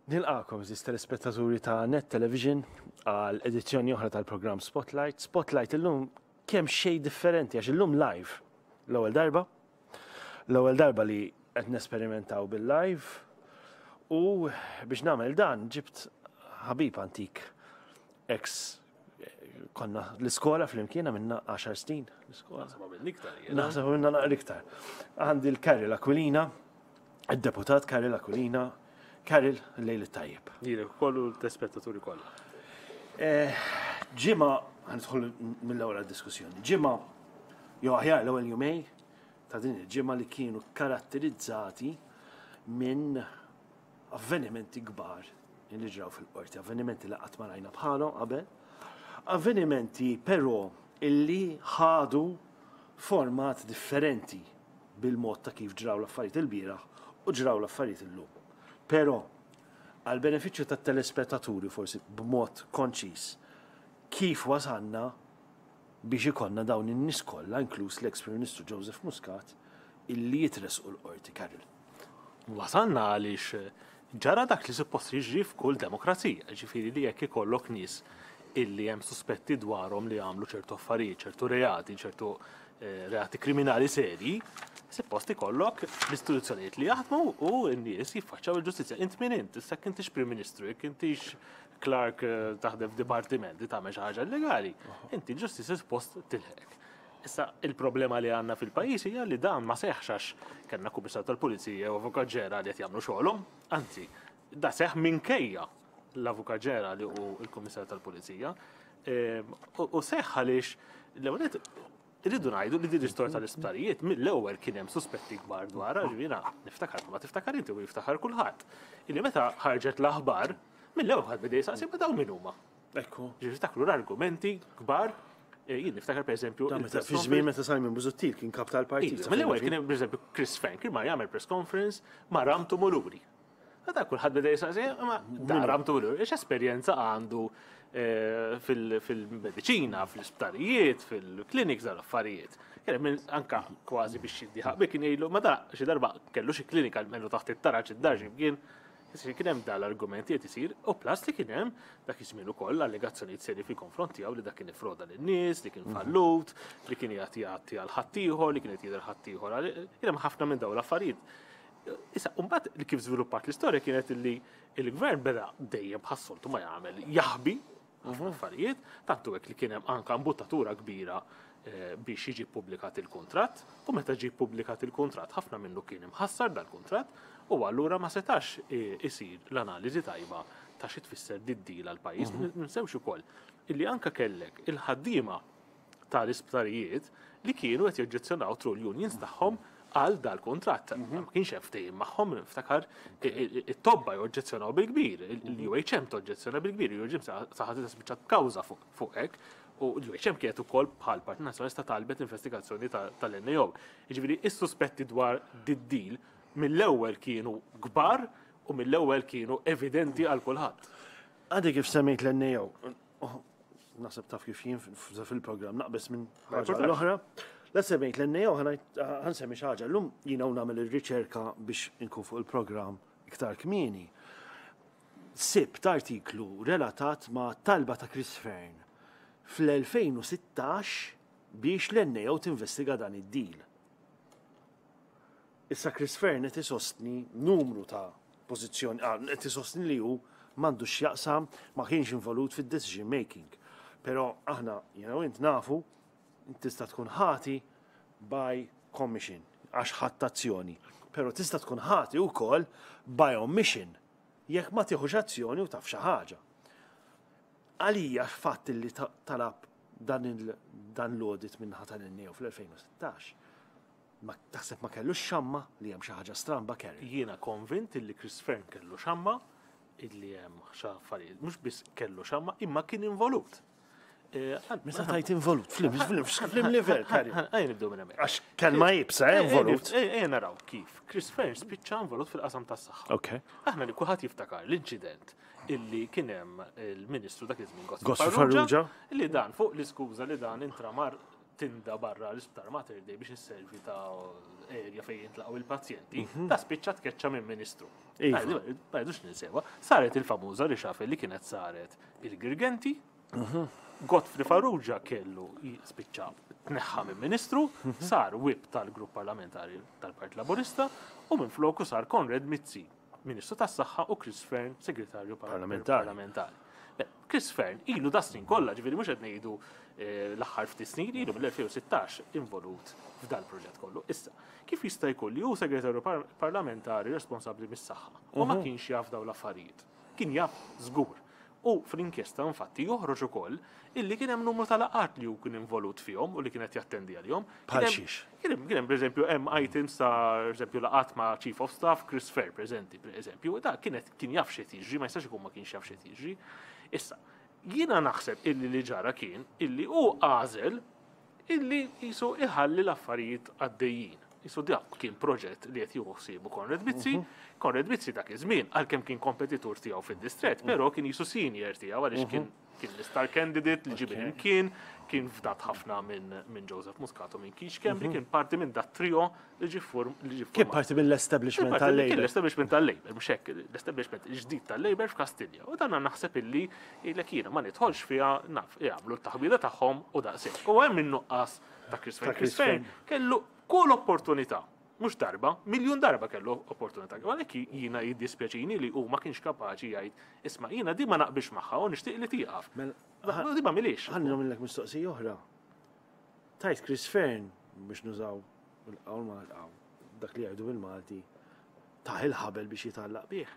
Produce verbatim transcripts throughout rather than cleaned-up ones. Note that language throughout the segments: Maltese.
Nilqagħkom, għeżież telespettaturi ta' Net Television, għal edizzjoni oħra tal-programm Spotlight. Spotlight illum kemm xej differenti għax illum live. L-ewwel darba. L-ewwel darba li qed nesperimentaw bil-live. U biex nagħmel dan ġibt ħabib antik, ex konna l-iskola flimkien minna għaxar snin. L-iskola. Naħseb minna naqra iktar. Għandi l-Karol Aquilina, il-deputat Karol Aquilina. Karol, lejl it-tajjeb. Lilek kollu l-telespettaturi kollha. Eh, ġimgħa, ħa nidħol mill-ewwel diskussjoni. Ġimgħa, jew aħjar l-ewwel jumejn ta' din il-ġimgħa li kienu karatterizzati minn avvenimenti kbar li ġraw fil-qorti, avvenimenti li qatt ma rajna bħalhom qabel, avvenimenti però illi ħadu format differenti bil-mod ta' kif ġraw l-affarijiet il-bieraħ u ġraw l-affarijiet illum. Però, għal benefiċċju tat-telespettaturi, forsi b'mod konċis, kif wasanna biex ikollna dawn in-nies kollha, inkluż l-ex Prim Ministru Joseph Muscat, illi jitresqu l-qorti, Karol? Wasanna għaliex ġara dak li suppost jiġri f'kull demokrazija, ġifieri li jekk ikollok nies illi hemm suspetti dwarhom li għamlu ċertu affarijiet, ċertu reati, ċertu eh, reati kriminali seri, suppost ikollok l-istituzzjonijiet li jaħdmu u n-nies jiffaċċaw il-ġustizzja. Int min int, issa jekk intix Prim Ministru, jekk intix clerk eh, taħdem f'dipartiment li tagħmel xi ħaġa illegali, inti l-ġustizzja suppost tilħek. Issa il-problema li għandna fil-pajjiż hija li dan ma seħħx għax kellna kummissar tal-Pulizija u Avukat Ġenerali qed jagħmlu xogħolhom, anzi, da seħħ minkejja l-Avukat Ġenerali u l-Kummissar tal-Pulizija. Ehm, U seħħ għaliex l-ewwel irridu ngħidu li din l-istorja tal-isptarijiet mill-ewwel kien hemm suspetti kbar dwarha, ġifieri niftakar ma tiftakar inti u jiftakar kulħadd. Illi meta ħarġet l-aħbar, mill-ewwel ħadd beda jistaqsi, ma dawn min huma? Ekku. Ġifieri tiftakru l-argumenti kbar, eh, jien niftakar pereżempju Da meta fi żmien meta Simon Busuttil kien kap tal-partit. Iva, mill-ewwel kien hemm pereżempju Chris Fearne ma jagħmel press conference ma' Ram Tumuluri. Da kulħadd beda jistaqsi, ma da Ram Tumuluri, x'esperjenza għandu eh, fil- fil-mediċina, fl-isptarijiet, fil-clinics, dal affarijiet. Kien hemm anka kważi biex jiddiħaq bi kien jgħidlu, ma da xi darba kellu xi klinika almenu taħt it-taraġ id-dar kien. Kien hemm dal-argumenti qed isir u plus li kien hemm dak iż-żmien ukoll allegazzjonijiet seri fil-konfront tiegħu li dak kien ifroda lin-nies, li kien fallut, li kien jagħti jagħti għal ħaddieħor, li kien qed jidher ħaddieħor. Kien hemm ħafna minn dawn l-affarijiet. Issa, mbagħad li kif żviluppat l-istorja kienet li il-gvern beda dejjem bħas-soltu ma jagħmel jaħbi ħafna affarijiet, tantu hekk li kien hemm anka imbuttatura kbira eh, biex jiġi ppubblikat il-kuntratt, u meta ġie ppubblikat il-kuntratt ħafna minnu kien imħassar dal-kuntratt, u allura ma setax eh, isir l-analiżi tajba ta' xi tfisser did-deal għal pajjiż. Ninsewx ukoll illi anka kellek il-ħaddiema tal-isptarijiet li kienu qed joġġezzjonaw through l-unions tagħhom għal dal-kuntratt. Ma kienx hemm ftehim magħhom, niftakar it-tobba joġġezzjonaw bil-kbir, l-U H M toġġezzjona bil-kbir, l-U H M saħansitra spiċċat kawża fuq hekk, u l-U H M kienet ukoll bħal Partit Nazzjonalista talbet investigazzjoni tal-N A O. Jiġifieri is-suspetti dwar did-deal mill-ewwel kienu kbar u mill-ewwel kienu evidenti għal kulħadd. Għadi kif semmejt l-N A O, naħseb taf kif jien fil-programm naqbes minn ħaġa l-oħra. La semmejt l-N A O, ħa nsemmi xi ħaġa. Llum jiena u nagħmel ir-riċerka biex inkun fuq il-programm iktar kmieni. Sibt artiklu relatat ma' talba ta' Chris Fearne fl-elfejn u sittax biex l-N A O tinvestiga dan id-deal. Issa Chris Fearne qed isostni numru ta' pożizzjoni, ah, qed isostni li hu m'għandux x'jaqsam, ma kienx involut fid-decision making. Però aħna, jiena u int nafu, tista' tkun ħati by commission, għax ħadd azzjoni. Però tista' tkun ħati wkoll by omission, jekk ma tieħux azzjoni u taf xi ħaġa. Għalija fatt li talab dan dan l-audit minn tal-N A O fl-elfejn u sittax. Ma taħseb ma kellux xamma li hemm xi ħaġa stramba, Kerry? Jiena konvint li Chris Fearne kellu xamma illi hemm xi affarijiet, mhux biss kellu xamma imma kien involut. Eh, Meta tajt involut, flim, flim, flim level, Kerry. Ejja nibdew minn hemmhekk. Għax kelma iebsa, eh, involut. Ejja naraw kif Chris Fearne spiċċa involut fil-qasam tas-saħħa. Ok. Aħna li kulħadd jiftakar l-inċident illi kien hemm il-Ministru dak iż-żmien Godfrey Farrugia, illi dan fuq l-iskuża li dan intramar tinda barra l-isptar Mater Dei biex isservi ta' area Kastilja fejn jintlaqgħu il-pazjenti, ta' spiċċa tkeċċa minn ministru. Iva. Ma jridux ninsewa. Saret il-famuża reshuffle li kienet saret il-Girgenti, Godfrey Farrugia kellu spiċċa tneħħa minn ministru, sar whip tal-grupp parlamentari tal-Partit Laburista u minn floku sar Konrad Mizzi, Ministru tas-Saħħa, u Chris Fearne, Segretarju Parlamentari. Parlamentari. Beh, Chris Fearne ilu da snin kollha, ġifieri mhux qed ngħidu eh, l-aħħar ftit snin, ilu mill-elfejn u sittax involut f'dal proġett kollu. Issa, kif jista' jkun li hu segretarju par parlamentari responsabbli mis-saħħa u ma kienx jaf dawn l-affarijiet? Kien jaf żgur. U fl-inkjesta infatti joħroġ ukoll illi kien hemm numru ta' laqgħat li hu kien involut fihom u li kienet jattendi għalihom. Bħal Kien hemm- xiex? Kien hemm, kien hemm pereżempju hemm items ta' pereżempju laqgħat ma' Chief of Staff Chris Fearne preżenti, pereżempju, da kienet kien jaf x'qed jiġri, ma jistax ikun ma kienx jaf x'qed jiġri. Issa, jiena naħseb illi li ġara kien illi hu għażel illi jisu iħalli l-affarijiet għaddejjin. Jisu dak kien proġett li qed jieħu ħsiebu Konrad Mizzi. Konrad Mizzi dak iż-żmien, għalkemm kien kompetitur tiegħu fid-distret, però kien jisu senior tiegħu għaliex kien kien l-star candidate li ġie kien kien fdat ħafna minn min Joseph Muscat u minn Keith Schembri, kien parti minn dat trio li ġie form li ġie Kien format. parti mill-establishment Kien parti- Kien tal-Labour. l-establishment tal-Labour, mhux hekk, l-establishment ġdid tal-Labour f'Kastilja. U dan naħseb illi ilek jiena ma nidħolx fiha, naf, jagħmlu t-taħbida tagħhom u daqshekk. U hemm in-nuqqas ta' Chris Fearne. Ta' Chris Chris Fearne kellu kull opportunità, mhux darba, miljun darba kellu opportunità. Għalhekk jiena jiddispjaċini li hu ma kienx kapaċi jgħid, "Isma', jiena di ma naqbilx magħha u nixtieq li tieqaf." Mela, Di ma milix. Ħalli nagħmillek mistoqsija oħra. Tajt Chris Fearne, biex nużaw il-qawl ma dak li jgħidu bil-Malti, taħ il-ħabel biex jitgħallaq bih.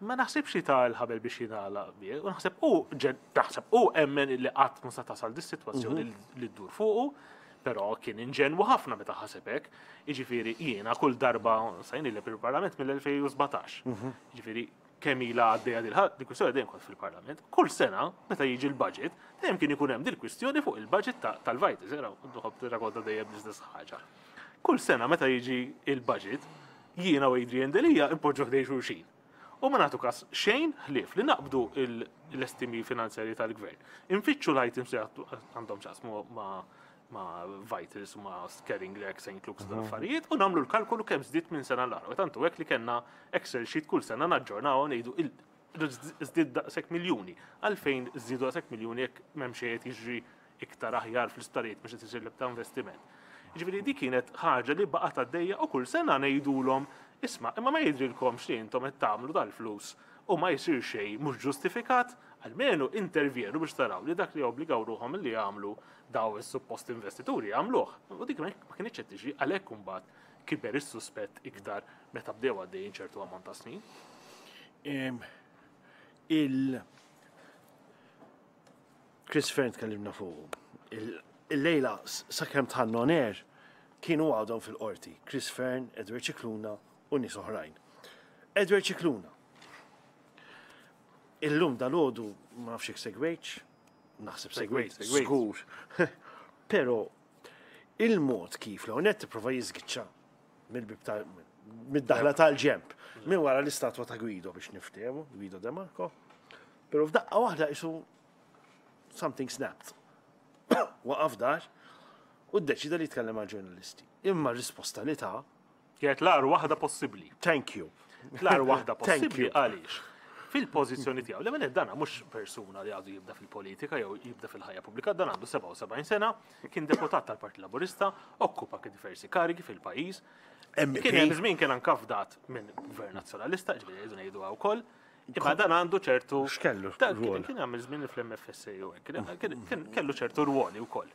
Ma naħsibx li ta' l-ħabel biex jingħalaq bih, u naħseb u ġen- naħseb u emmen li qatt ma sa tasal dis-sitwazzjoni li ddur fuqu, però kien inġenwu ħafna meta ħaseb hekk. Jiġifieri jiena kull darba sajni li fil-Parlament mill-elfejn u sbatax. Jiġifieri kemm ilha għaddejja dil kwistjoni dejjem kont fil-Parlament. Kull sena meta jiġi l-budget, dejjem kien ikun hemm dil-kwistjoni fuq il-budget ta- tal-Vitals, era nħobb tirrakkonta dejjem l-istess ħaġa. Kull sena meta jiġi il-budget, jiena u Adrian Delia impoġġu ħdejn xulxin. U ma nagħtu kas xejn ħlief li naqbdu il- l-estimi finanzjari tal-gvern. Infittxu l-items li għattu- għandhom x'jaqsmu ma' ma' Vitals, ma' Caring Rec, Saint Luke's, u affarijiet, u nagħmlu l-kalkolu kemm żdied minn sena l-oħra. U tantu hekk li kellna Excel sheet kull sena naġġornaw u ngħidu il- żdied daqshekk miljuni. Għalfejn żdiedu daqshekk miljuni jekk m'hemm xejn qed jiġri iktar aħjar fl-isptarijiet biex qed isir l-ebda investiment? Ġifieri di kienet ħaġa li baqgħet għaddejja u kull sena ngħidulhom, "Isma', imma ma jidrilkomx li intom qed tagħmlu dal-flus u ma jsir xejn mhux ġustifikat? Almenu intervjenu biex taraw li dak li obbligaw ruħhom li jagħmlu daw is-suppost investituri jagħmluh." U dik ma kienx qed tiġi, għalhekk imbagħad kiber is-suspett iktar meta bdew għaddejjin ċertu ammont ta' snin. Em, Il Chris Fearne tkellimna fuq. Il-lejla sakemm tħannu on air kienu għadhom fil-qorti. Chris Fearne, Edward Scicluna u nies oħrajn. Edward Scicluna. Illum dal-għodu ma nafx jekk segwejtx, naħseb segwejt, Segwejt, segwejt. żgur. Però il-mod kif l net tipprova jiżgiċċa mill-bib ta' mid-daħla tal-ġemp, minn wara l-istatwa ta' Guido biex niftehmu, Guido De Marco. Però f'daqqa waħda isu something snapped. Waqaf dar u ddeċida li jitkellem għal ġurnalisti. Imma r-risposta li ta' Kienet l-agħar waħda possibbli. Thank you. L-agħar waħda Thank possibbli you. għaliex? Fil-pożizzjoni tiegħu, l dana mhux persuna li għadu jibda fil-politika jew jibda fil-ħajja pubblika, dan għandu sebgħa u sebgħin sena, kien deputat tal-Partit Laburista, okkupa diversi karigi fil-pajjiż. M P. Kien hemm żmien kien anka fdat minn Gvern Nazzjonalista, ġifieri jgħidu ngħidu wkoll. Imma dan għandu ċertu X'kellu Ta' rwol? Kien għamil żmien fl-M F S A u hekk, kien- kien- kellu ċertu rwoli wkoll.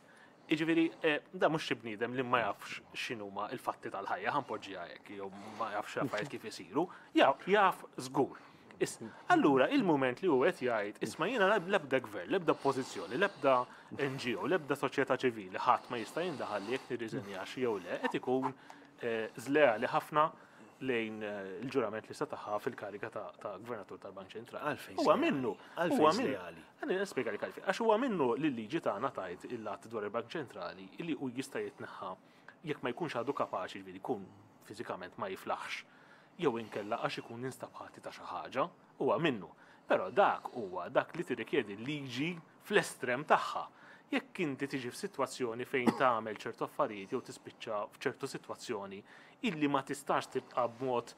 Jiġifieri, eh, da mhux xi bniedem li ma jafx x'inhuma il-fatti tal-ħajja, ħa npoġġiha hekk, jew ma jafx affarijiet kif isiru, jaf jaf żgur. Is- Allura, il-moment li hu qed jgħid, "Isma', jiena l-ebda gvern, l-ebda pożizzjoni, l-ebda N G O, l-ebda soċjetà ċivili, ħadd ma jista' jindaħal li jekk nirriżenjax jew le," qed ikun eh, żleali ħafna lejn eh, il-ġurament li setaħa fil-kariga ta' ta' gvernatur tal-Bank Ċentrali. Għalfejn Huwa żleali? minnu. Għalfejn Huwa minnu. żleali? Għani nispjega li għalfejn. Għax huwa minnu li l-liġi tagħna tajt il-att dwar il-Bank Ċentrali li hu jista' jitneħħa jekk ma jkunx għadu kapaċi, ġifieri jkun fiżikament ma jiflaħx, jew inkella għax ikun instab ħati ta' xi ħaġa, huwa minnu. Però dak huwa dak li tirrikjedi liġi fl-estrem tagħha. Jekk inti tiġi f'sitwazzjoni fejn tagħmel ċertu affarijiet jew tispiċċa f'ċertu sitwazzjoni illi ma tistax tibqa' b'mod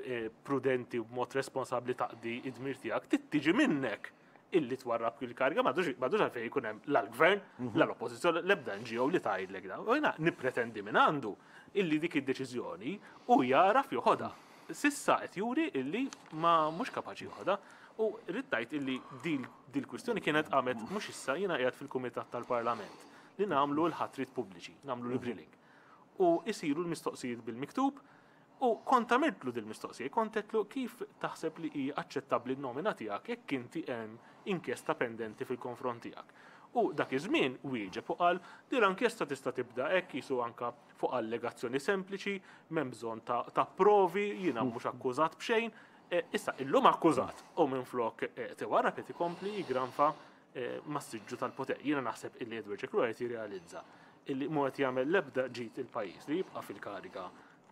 eh, prudenti u b'mod responsabbli taqdi id-dmir tiegħek, tiġi minnek illi twarrab il-kariga, m'għandux għalfejn jkun hemm l-gvern, l-oppożizzjoni, l-ebda N G O li tgħidlek da. U jiena nippretendi minn għandu illi dik id-deċiżjoni u jaraf joħodha. S'issa qed juri illi ma mhux kapaċi joħodha. U rrid ngħid illi dil kwistjoni kienet qamet mhux issa. Jiena qiegħed fil-Kumitat tal-Parlament li nagħmlu l-ħatrit pubbliċi, nagħmlu l-grilling. U isiru l-mistoqsijiet bil-miktub u kont għamiltlu dil-mistoqsija, kont għedtlu: "Kif taħseb li hi aċċettabbli n-nomina tiegħek jekk inti hemm inkjesta pendenti fil-konfront tiegħek?" U dak iż-żmien wieġeb u qal li l-inkjesta tista' tibda hekk jisu anka fuq allegazzjoni sempliċi, m'hemm bżonn ta', ta provi, jiena mhux akkużat b'xejn. E, issa illum akkużat u minflok e, tiwarrab qed ikompli jigranfa e, mas-siġġu tal-poter. Jiena naħseb illi Edward Scicluna qed jirrealizza illi mhu qed jagħmel l-ebda ġid il-pajjiż li jibqa' fil-kariga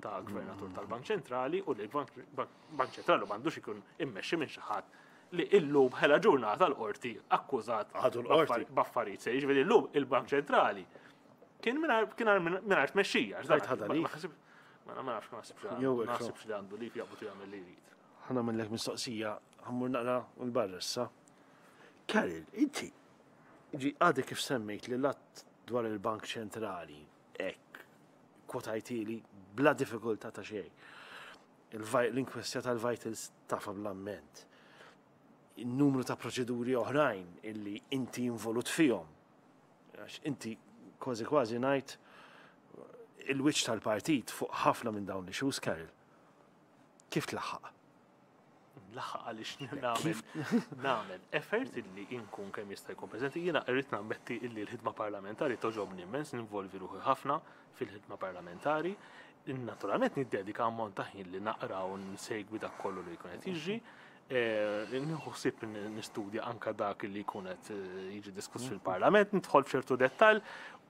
ta' gvernatur tal-Bank Ċentrali u li l-Bank Ċentrali m'għandux ikun immexxi minn xi ħadd li illum ħela ġurnata l-qorti akkużat Għadu l-qorti. b'affarijiet se. Jiġifieri llum il-Bank Ċentrali kien mingħajr kien mingħajr tmexxija. Għajt ħadha leave. Ma ma nafx, ma naħsibx Jew hekk. ma naħsibx li għandu leave, jaqbad jagħmel li jrid. Ħa nagħmillek mistoqsija, ħa mmur naqra 'l barra issa. Karol, inti, ġi għadek kif semmejt li l-att dwar il-Bank Ċentrali, hekk, kwotajtili bla diffikultà ta' xejn. L-inkwestja tal-Vitals tafha bl-amment. Il-numru ta' proċeduri oħrajn illi inti involut fihom. Għax inti kważi kważi ngħid il-wiċċ tal-partit fuq ħafna minn dawn l-issues, Karol. Kif tlaħħaq? Laħaq għaliex nagħmel nagħmel effort illi inkun kemm jista' jkun preżenti. Jiena irrid nammetti illi l-ħidma parlamentari togħġobni immens, ninvolvi ruħi ħafna fil-ħidma parlamentari. Naturalment niddedika ammont ta' ħin li naqra u nsegwi dak kollu li jkun qed jiġri. Eh, Nieħu ħsieb nistudja anka dak li jkun qed eh, jiġi diskuss fil-parlament, nidħol f'ċertu dettall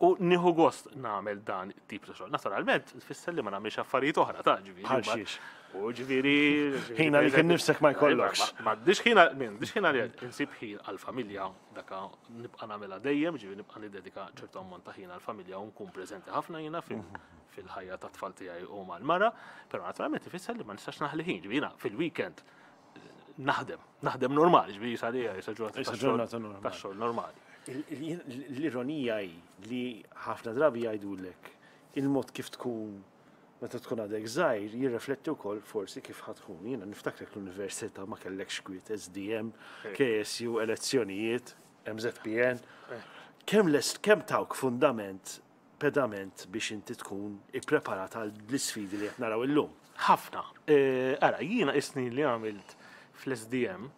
u nieħu gost nagħmel dan tip ta' xogħol. Naturalment, tfisser li ma nagħmilx affarijiet oħra ta' ġifieri. Bħal xiex? U ġifieri. Ħina li kien nifsek ma jkollokx. Ma m'għandix ħina, m'għandix ħina li insib ħin għal-familja, daka nibqa' nagħmilha dejjem, ġifieri nibqa' niddedika ċertu ammont ta' ħin għal-familja u nkun preżenti ħafna jiena fil-ħajja ta' tfal tiegħi u mal-mara, però naturalment ifisser li ma nistax naħli ħin, ġifieri jiena fil-weekend eh, naħdem, naħdem normali, ġifieri sa issa ġurnata Issa ta' xogħol- ġurnata normali. ta' xogħol normali. Il- il- L-ironija hi li ħafna drabi jgħidulek il-mod kif tkun meta tkun għadek żgħir jirrifletti wkoll forsi kif ħa tkun. Jiena niftakrek l-università, ma kellekx kwiet, S D M, K S U, elezzjonijiet, M Z P N. Kemm lest kemm tawk fundament, pedament biex inti tkun ippreparat għal l-isfidi li qed naraw illum? Ħafna. Eh, Ara, jiena is-snin li għamilt fl-S D M,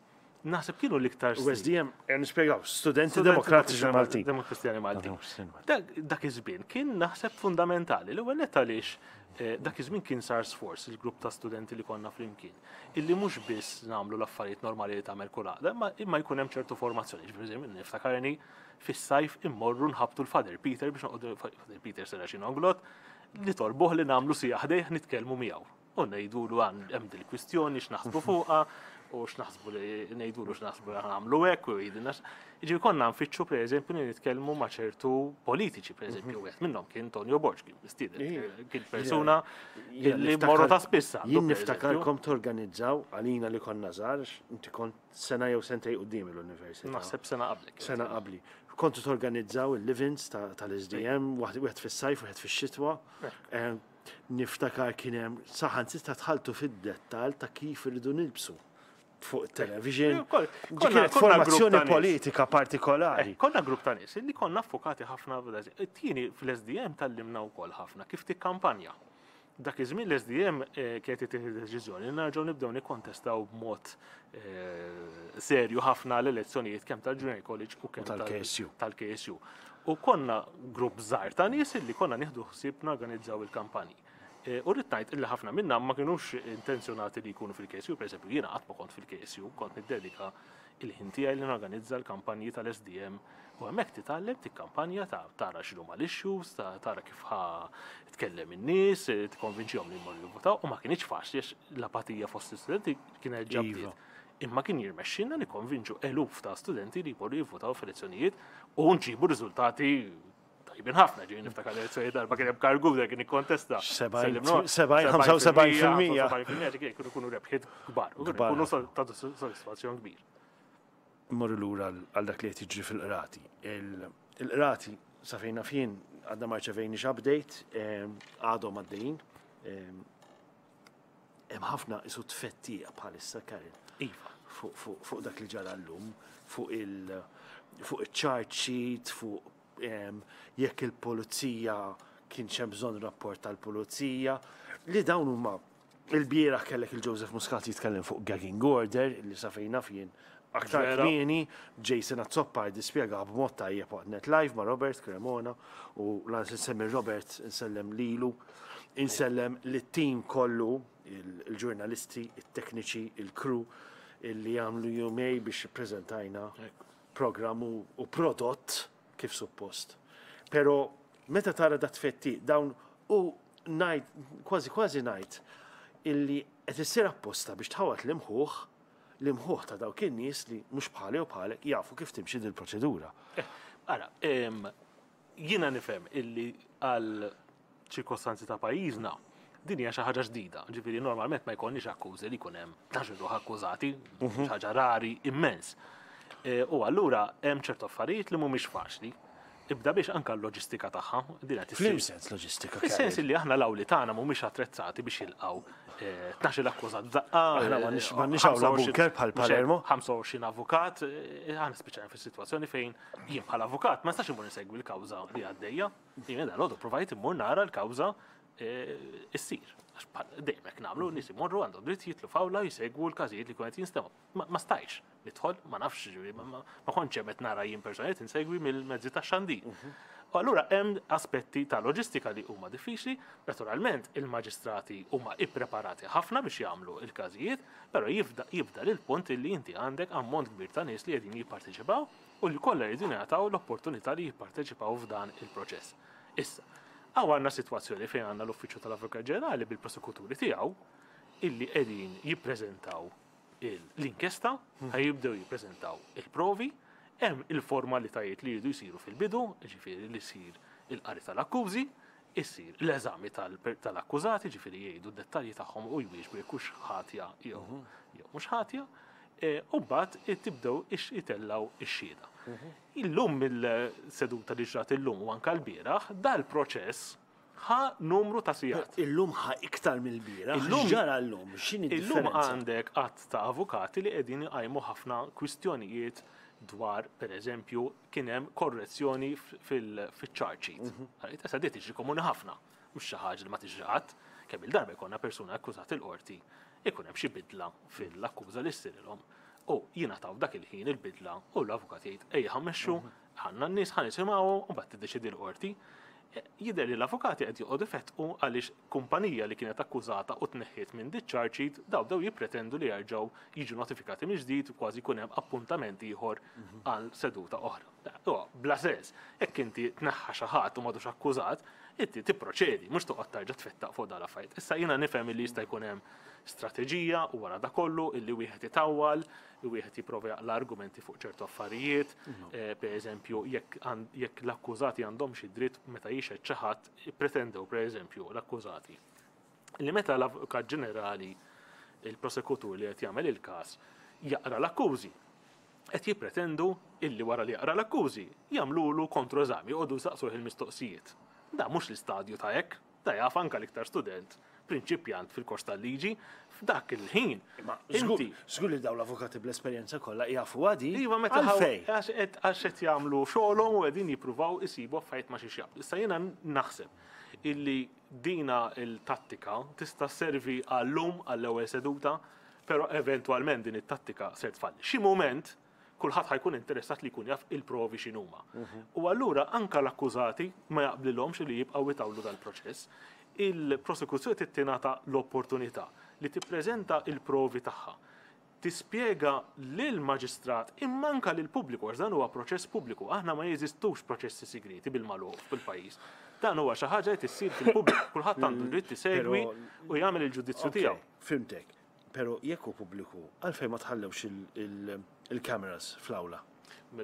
naħseb kienu l-iktar U snin. S D M, eh, nispjegaw, Studenti Demokratiċi Maltin. Demokristjani Maltin. Demokratiċi Maltin. Dak dak iż-żmien kien naħseb fundamentali. L-ewwel nett għaliex eh, dak iż-żmien kien sar sforz il-grupp ta' studenti li konna flimkien illi mhux biss nagħmlu l-affarijiet normali li tagħmel kull għaqda, imma imma jkun hemm ċertu formazzjoni. Ġifieri niftakarni fis-sajf immorru nħabtu l-Father Peter biex noqogħdu, Father Peter Serracino Inglott, li torbuh li nagħmlu siegħa ħdejh nitkellmu miegħu. U ngħidulu għan hemm dil-kwistjoni x'naħsbu fuqha u x'naħsbu li ngħidulu x'naħsbu li nagħmlu hekk u jgħidilna. Jiġifieri konna nfittxu, pereżempju, li nitkellmu ma' ċertu politiċi, pereżempju, wieħed minnhom kien Tonio Borg, kien mistieden, kien persuna Jien li niftakar- morru ta' spissa. Jien niftakarkom torganizzaw għalina li konna żgħar, inti kont sena jew sentej quddiem l-università. Naħseb sena qablek. Sena qabli. Kontu torganizzaw il-live-ins ta- tal-S D M, waħd wieħed fis-sajf, wieħed fix-xitwa. Eh, Niftakar kien hemm saħansitra tħaltu fid-dettal ta' kif irridu nilbsu fuq television. Eh, kol- Ġi konna- kienet konna grupp formazzjoni ta' nies. politika partikolari. Eh, Konna grupp ta' nies li konna affukati ħafna f'da- Tieni, fl-S D M tgħallimna wkoll ħafna kif tikkampanja. Dak iż-żmien l-S D M eh, kienet ittieħed deċiżjoni li nerġgħu nibdew nikkontestaw b'mod eh, serju ħafna l-elezzjonijiet kemm tal-Junior College u kemm tal-K S U. tal-K S U. U konna grupp żgħar ta' nies li konna nieħdu ħsieb norganizzaw il-kampanji. Eh, U rrid ngħid illi ħafna minna ma kinux intenzjonati li jkunu fil-K S U, pereżempju jiena qatt ma kont fil-K S U, kont niddedika il-ħin tiegħi li norganizza l-kampanji tal-S D M u hemmhekk titgħallem tikkampanja, ta' tara x'inhuma l-issues, ta' tara kif ħa tkellem in-nies, eh, tikkonvinċihom li jmorru jivvotaw, u ma kinitx faċli għax l-apatija fost l-istudenti kienet Iva. ġabdiet. Imma kien jirnexxilna nikkonvinċu eluf ta' studenti li jmorru jivvotaw f'elezzjonijiet u nġibu riżultati tajbin ħafna. Ġej niftakar l-elezzjoni darba kien hemm Karl Gouder kien ikkontesta. sebgħin, ħamsa u sebgħin fil-mija. ġifieri kienu kunu rebħiet kbar. U kienu ta' sodisfazzjon kbir. Mmorru lura għal dak li qed jiġri fil-qrati. Il-qrati sa fejn naf jien għadna ma rċevejniex update, għadhom għaddejjin. Hemm ħafna isu tfettija bħalissa, Karen. Iva. Fuq dak li ġara llum, fuq il- fuq il-charge sheet, fuq jekk il-pulizija kien hemm bżonn rapport tal-pulizija, li dawn huma il-bieraħ kellek il-Joseph Muscat jitkellem fuq gagging order, li sa fejn naf jien aktar kmieni Jason Azzopardi dispjega b'mod tajjeb waqt Net Live ma' Robert Cremona, u lanqas insemmi Robert, insellem lilu, insellem lit-tim kollu, il-ġurnalisti, it-tekniċi, il-crew, illi jagħmlu jumej biex prezentajna programm u prodott kif suppost. Pero meta tara da tfetti dawn u ngħid, kważi kważi ngħid, illi qed issir apposta biex tħawat l-imħuħ, l-imħuħ ta' dawk in-nies li mhux bħali u bħalek jafu kif timxi dil-proċedura. Ara, jiena nifhem illi għal ċirkostanzi ta' pajjiżna din hija xi ħaġa ġdida. Ġifieri normalment ma jkollniex akkużi li jkun hemm tnax ruħ akkużati, xi ħaġa rari immens. U allura hemm ċertu affarijiet li mhumiex faċli. Ibda biex anka l-loġistika tagħha. Din qed F'liem sens loġistika? Fis-sens li aħna l-awli tagħna mhumiex attrezzati biex jilqgħu tnax-il akkużat f'daqqa. Aħna m'għandniex awla bunker bħal Palermo. ħamsa u għoxrin avukat, aħna spiċċajna fis-sitwazzjoni fejn jien bħala avukat ma nistax immur insegwi l-kawża li għaddejja. Jien dal-għodu provajt immur nara l-kawża issir. Għax dejjem hekk nagħmlu, nies imorru għandhom dritt jitlu f'awla jsegwu l-każijiet li jkun qed jinstemgħu. Ma stajtx nidħol, ma nafx, ġifieri, ma kontx hemm qed nara jien personalment insegwi mill-mezzi tax-xandir. U allura hemm aspetti ta' loġistika li huma diffiċli, naturalment il-maġistrati huma ippreparati ħafna biex jagħmlu l-każijiet, però jibda lil punt li inti għandek ammont kbir ta' nies li qegħdin jipparteċipaw u li kollha jridu jingħataw l-opportunità li jipparteċipaw f'dan il-proċess. Issa, hawn għandna sitwazzjoni fejn għandna l-Uffiċċju tal-Avukat Ġenerali bil-prosekuturi tiegħu illi qegħdin jippreżentaw l-inkjesta, ħajibdew jippreżentaw il-provi, hemm il-formalitajiet li jridu jsiru fil-bidu, ġifieri li jsir il-qari tal-akkużi, issir l-eżami tal-akkużati, ġifieri jgħidu d-dettalji tagħhom u jwieġbu jekk hux ħatja jew mhux ħatja, u mbagħad tibdew itellgħu ix-xhieda. Illum mill-seduta li ġrat illum u anke l-bieraħ, dal-proċess ħa numru ta' sigħat. Illum ħa iktar mill-bieraħ. Illum ġara llum, x'inhi Illum d-differenza? għandek għadd ta' avukati li qegħdin iqajmu ħafna kwistjonijiet dwar, per eżempju, kien hemm korrezzjoni fil-charge sheet. Mhm. Issa di tiġri komuni ħafna, mhux xi ħaġa li ma tiġri qatt, kemm il-darba jkollna persuna akkużat il-qorti, ikun hemm xi bidla fil-akkuża li ssirilhom. U jingħataw dak il-ħin il-bidla u l-avukat jgħid ejja ħammexxu, ħanna n-nies ħa nisimgħu u mbagħad tiddeċiedi l-qorti. Jidher li l-avukati qed joqogħdu ifettqu għaliex kumpanija li kienet akkużata u tneħħiet minn dit charge sheet daw bdew jippretendu li jerġgħu jiġu notifikati mill-ġdid u kważi jkun hemm appuntament ieħor għal seduta oħra. Huwa bla sens, jekk inti tneħħa xi ħadd u m'għadux akkużat, inti tipproċedi, mhux toqgħod tarġa' tfettaq fuq dan l-affarijiet. Issa jiena nifhem li jista' jkun hemm strateġija u wara da kollu illi wieħed itawwal, wieħed jipprova jaqla argumenti fuq ċertu affarijiet, eh, per eżempju, jekk jekk l-akkużati għandhom xi dritt meta jixhed xi ħadd, pretendew per eżempju l-akkużati li meta l-Avukat Ġenerali, il-prosekutur li qed jagħmel il-każ, jaqra l-akkużi, qed jippretendu illi wara li jaqra l-akkużi jagħmlulu kontroeżami, joqogħdu jsaqsuh il-mistoqsijiet. Da mhux l-istadju ta' hekk, da jaf anke l-iktar student prinċipjant fil-kors tal-liġi, f'dak il-ħin. Ma Inti żgur li dawn l-avukati bl-esperjenza kollha jafu għadi. Iva, meta Għalfej? għax qed għax qed jagħmlu xogħolhom u qegħdin jippruvaw isibu affarijiet ma xiex jaqblu. Issa jiena naħseb illi dina il-tattika tista' servi għallum għall-ewwel seduta, però eventwalment din it-tattika ser tfalli. Xi mument kulħadd ħajkun interessat li jkun jaf il-provi x'inhuma. U allura anka l-akkużati ma jaqblilhomx li jibqgħu jtawlu dal-proċess. Il-prosekuzzjoni trid tingħata l-opportunità li tippreżenta il-provi tagħha, tispjega lill-maġistrat imma anka lill-pubbliku, għax dan huwa proċess pubbliku, aħna ma jeżistux proċessi segreti bil-magħluq fil-pajjiż. Dan huwa xi ħaġa li tissir fil-pubbliku, kulħadd għandu dritt isegwi u jagħmel il-ġudizzju tiegħu. Fhimtek. Però jekk hu pubbliku, għalfejn ma tħallewx il-cameras fl-awla?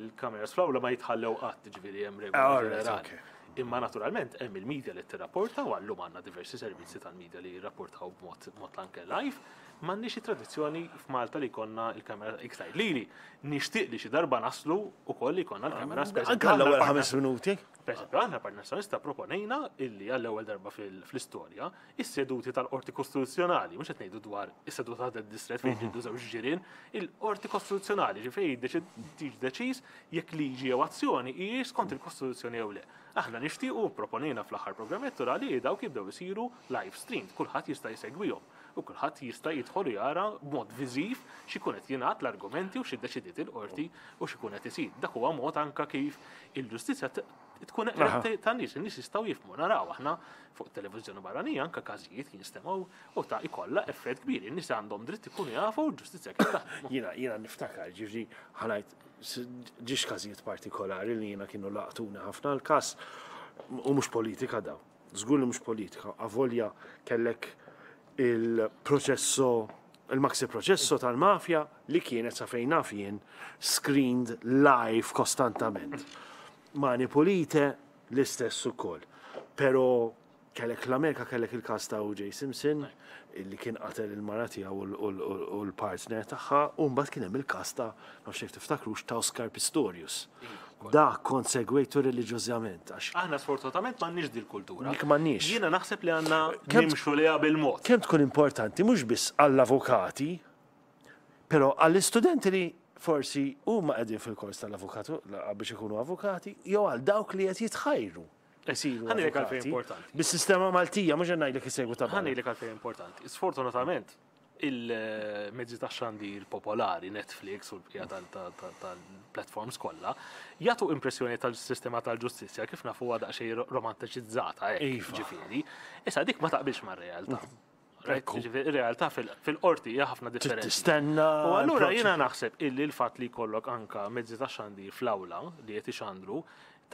Il-cameras fl-awla ma jitħallew qatt, ġifieri hemm regola ġenerali. Imma naturalment hemm il-media li tirrapporta u għallum għandna diversi servizzi tal-media li jirrapportaw b'mod mod anke live. M'għandniex tradizzjoni f'Malta li jkollna il-kamera iktar lili. Nixtieq li xi darba naslu wkoll li jkollna l-kamera. Anke l-ewwel ħames minuti. Pereżempju, aħna Partit Nazzjonalista proponejna illi għall-ewwel darba fl-istorja is-seduti tal-Qorti Kostituzzjonali, mhux qed ngħidu dwar is-seduta tad-distret fejn ġiddu żewġ ġirien, il-Qorti Kostituzzjonali ġifieri tiġi deċiż jekk liġi jew azzjoni hijiex skont il-Kostituzzjoni jew le. Aħna nixtiequ proponejna fl-aħħar programm elettorali li dawk jibdew isiru live streamed, kulħadd jista' jsegwihom u kulħadd jista' jidħol jara b'mod viżiv x'ikun qed jingħad l-argumenti u x'iddeċidiet il-qorti u x'ikun qed isir. Dak huwa mod anke kif il-ġustizzja tkun eqreb tan-nies, in-nies jistgħu jifhmu. Naraw aħna fuq televiżjoni barranija anke każijiet jinstemgħu u ta' ikollha effett kbir. In-nies għandhom dritt ikunu jafu l-ġustizzja kif taħdem. Jiena jiena niftakar, ġifieri ħanajt ġiex każijiet partikolari li jiena kienu laqtuna ħafna l-każ u mhux politika daw. Żgur li mhux politika, avolja kellek il-proċesso, il-maxi proċesso tal-mafja li kienet sa fejn naf jien screened live kostantament. Mani Pulite l-istess ukoll. Però kellek l-Amerika kellek il-każ ta' O J Simpson illi kien qatel il-mara tiegħu u l-partner tagħha, u mbagħad kien hemm il-każ ta' nafx jekk tiftakrux ta' Oscar Pistorius. Dak kont segwejtu reliġjożament għax aħna sfortunatament m'għandniex din il-kultura. Dik m'għandniex. Jiena naħseb li għandna nimxu liha bil-mod. Kemm tkun importanti mhux biss għall-avukati, però għall-istudenti li forsi huma qegħdin fil-kors tal-avukatu biex ikunu avukati, jew għal dawk li qed jitħajru. Isiru Ħa ngħidlek għalfejn avukati. importanti. Bis-sistema Maltija, mhux qed ngħidlek isegwu ta' Ħa ngħidlek għalfejn importanti. Sfortunatament, il-mezzi ta' xandir popolari, Netflix u l-bqija tal-platforms kollha, jagħtu impressjoni tal-sistema tal-ġustizzja kif nafu għadha daqsxejn romantiċizzata, hekk, Iva. ġifieri. Issa dik ma taqbilx mar-realtà. Ekku. Ġifieri, ir-realtà fil-qorti hija ħafna differenti. Tistenna. U allura l-proċess. jiena naħseb illi l-fatt li jkollok anka mezzi ta' xandir fl-awla li qed ixandru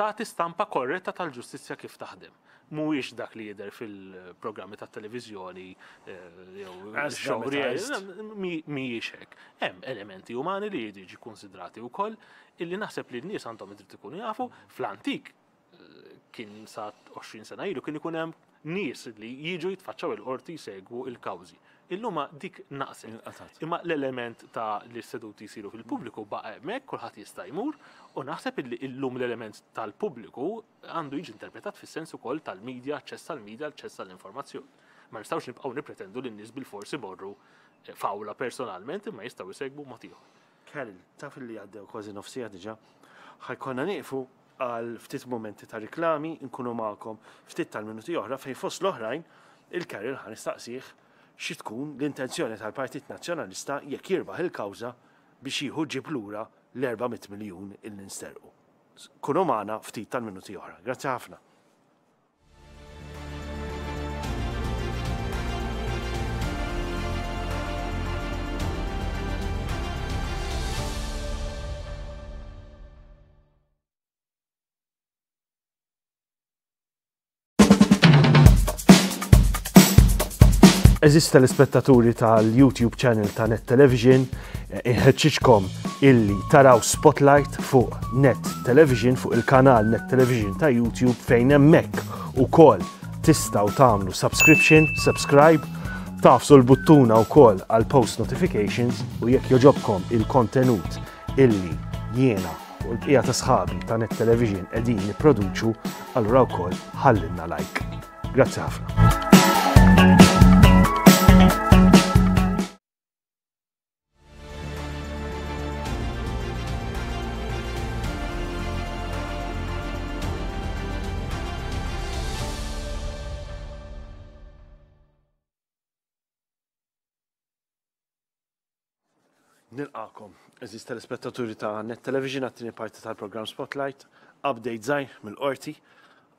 tagħti stampa korretta tal-ġustizzja kif taħdem. Mhuwiex dak li jidher fil-programmi tat-televiżjoni, eh, jew As show dramatized. mhijiex hekk. Hemm elementi umani li jridu jiġu konsidrati wkoll illi naħseb li n-nies għandhom id-dritt ikunu jafu. Fl-antik, eh, kien sa għoxrin sena ilu kien ikun hemm nies li jiġu jitfaċċaw il-qorti jsegwu il-kawżi. Illum dik naqset. Inqatgħet. Imma l-element ta' li s-seduti jsiru fil-pubbliku baqa' hemmhekk, kulħadd jista' jmur, u naħseb illi illum l-element tal-pubbliku għandu jiġi interpretat fis-sens ukoll tal-medja, aċċess għall-medja, aċċess għall-informazzjoni. Ma nistgħux nibqgħu nippretendu li n-nies bil-forsi morru fawla personalment, imma jistgħu jsegwu mod ieħor. Karol, taf li għaddew kważi nofsija diġà, ħajkonna nieqfu għal ftit momenti ta' riklami, nkunu magħkom ftit tal-minuti oħra fejn fost l-oħrajn il-Karol ħa nistaqsih xi tkun l-intenzjoni tal-Partit Nazzjonalista jekk jirbaħ il-kawża biex jieħu ġib lura l-erba' mitt miljun illi nsterqu. Kunu magħna ftit tal-minuti oħra. Grazzi ħafna. Eżis telespettaturi tal-YouTube channel ta' Net Television, inħeġġiġkom illi taraw Spotlight fuq Net Television, fuq il-kanal Net Television ta' YouTube, fejn hemmhekk ukoll tistgħu tagħmlu subscription, subscribe, tafsu l-buttuna wkoll għal post notifications, u jekk joġobkom il-kontenut illi jiena u l-bqija ta' sħabi ta' Net Television qegħdin nipproduċu, allura wkoll ħallinna like. Grazzi ħafna. Nilqakom, eżis telespettaturi ta' Net Television għat-tieni parti tal-programm Spotlight, update żgħir mill-qorti,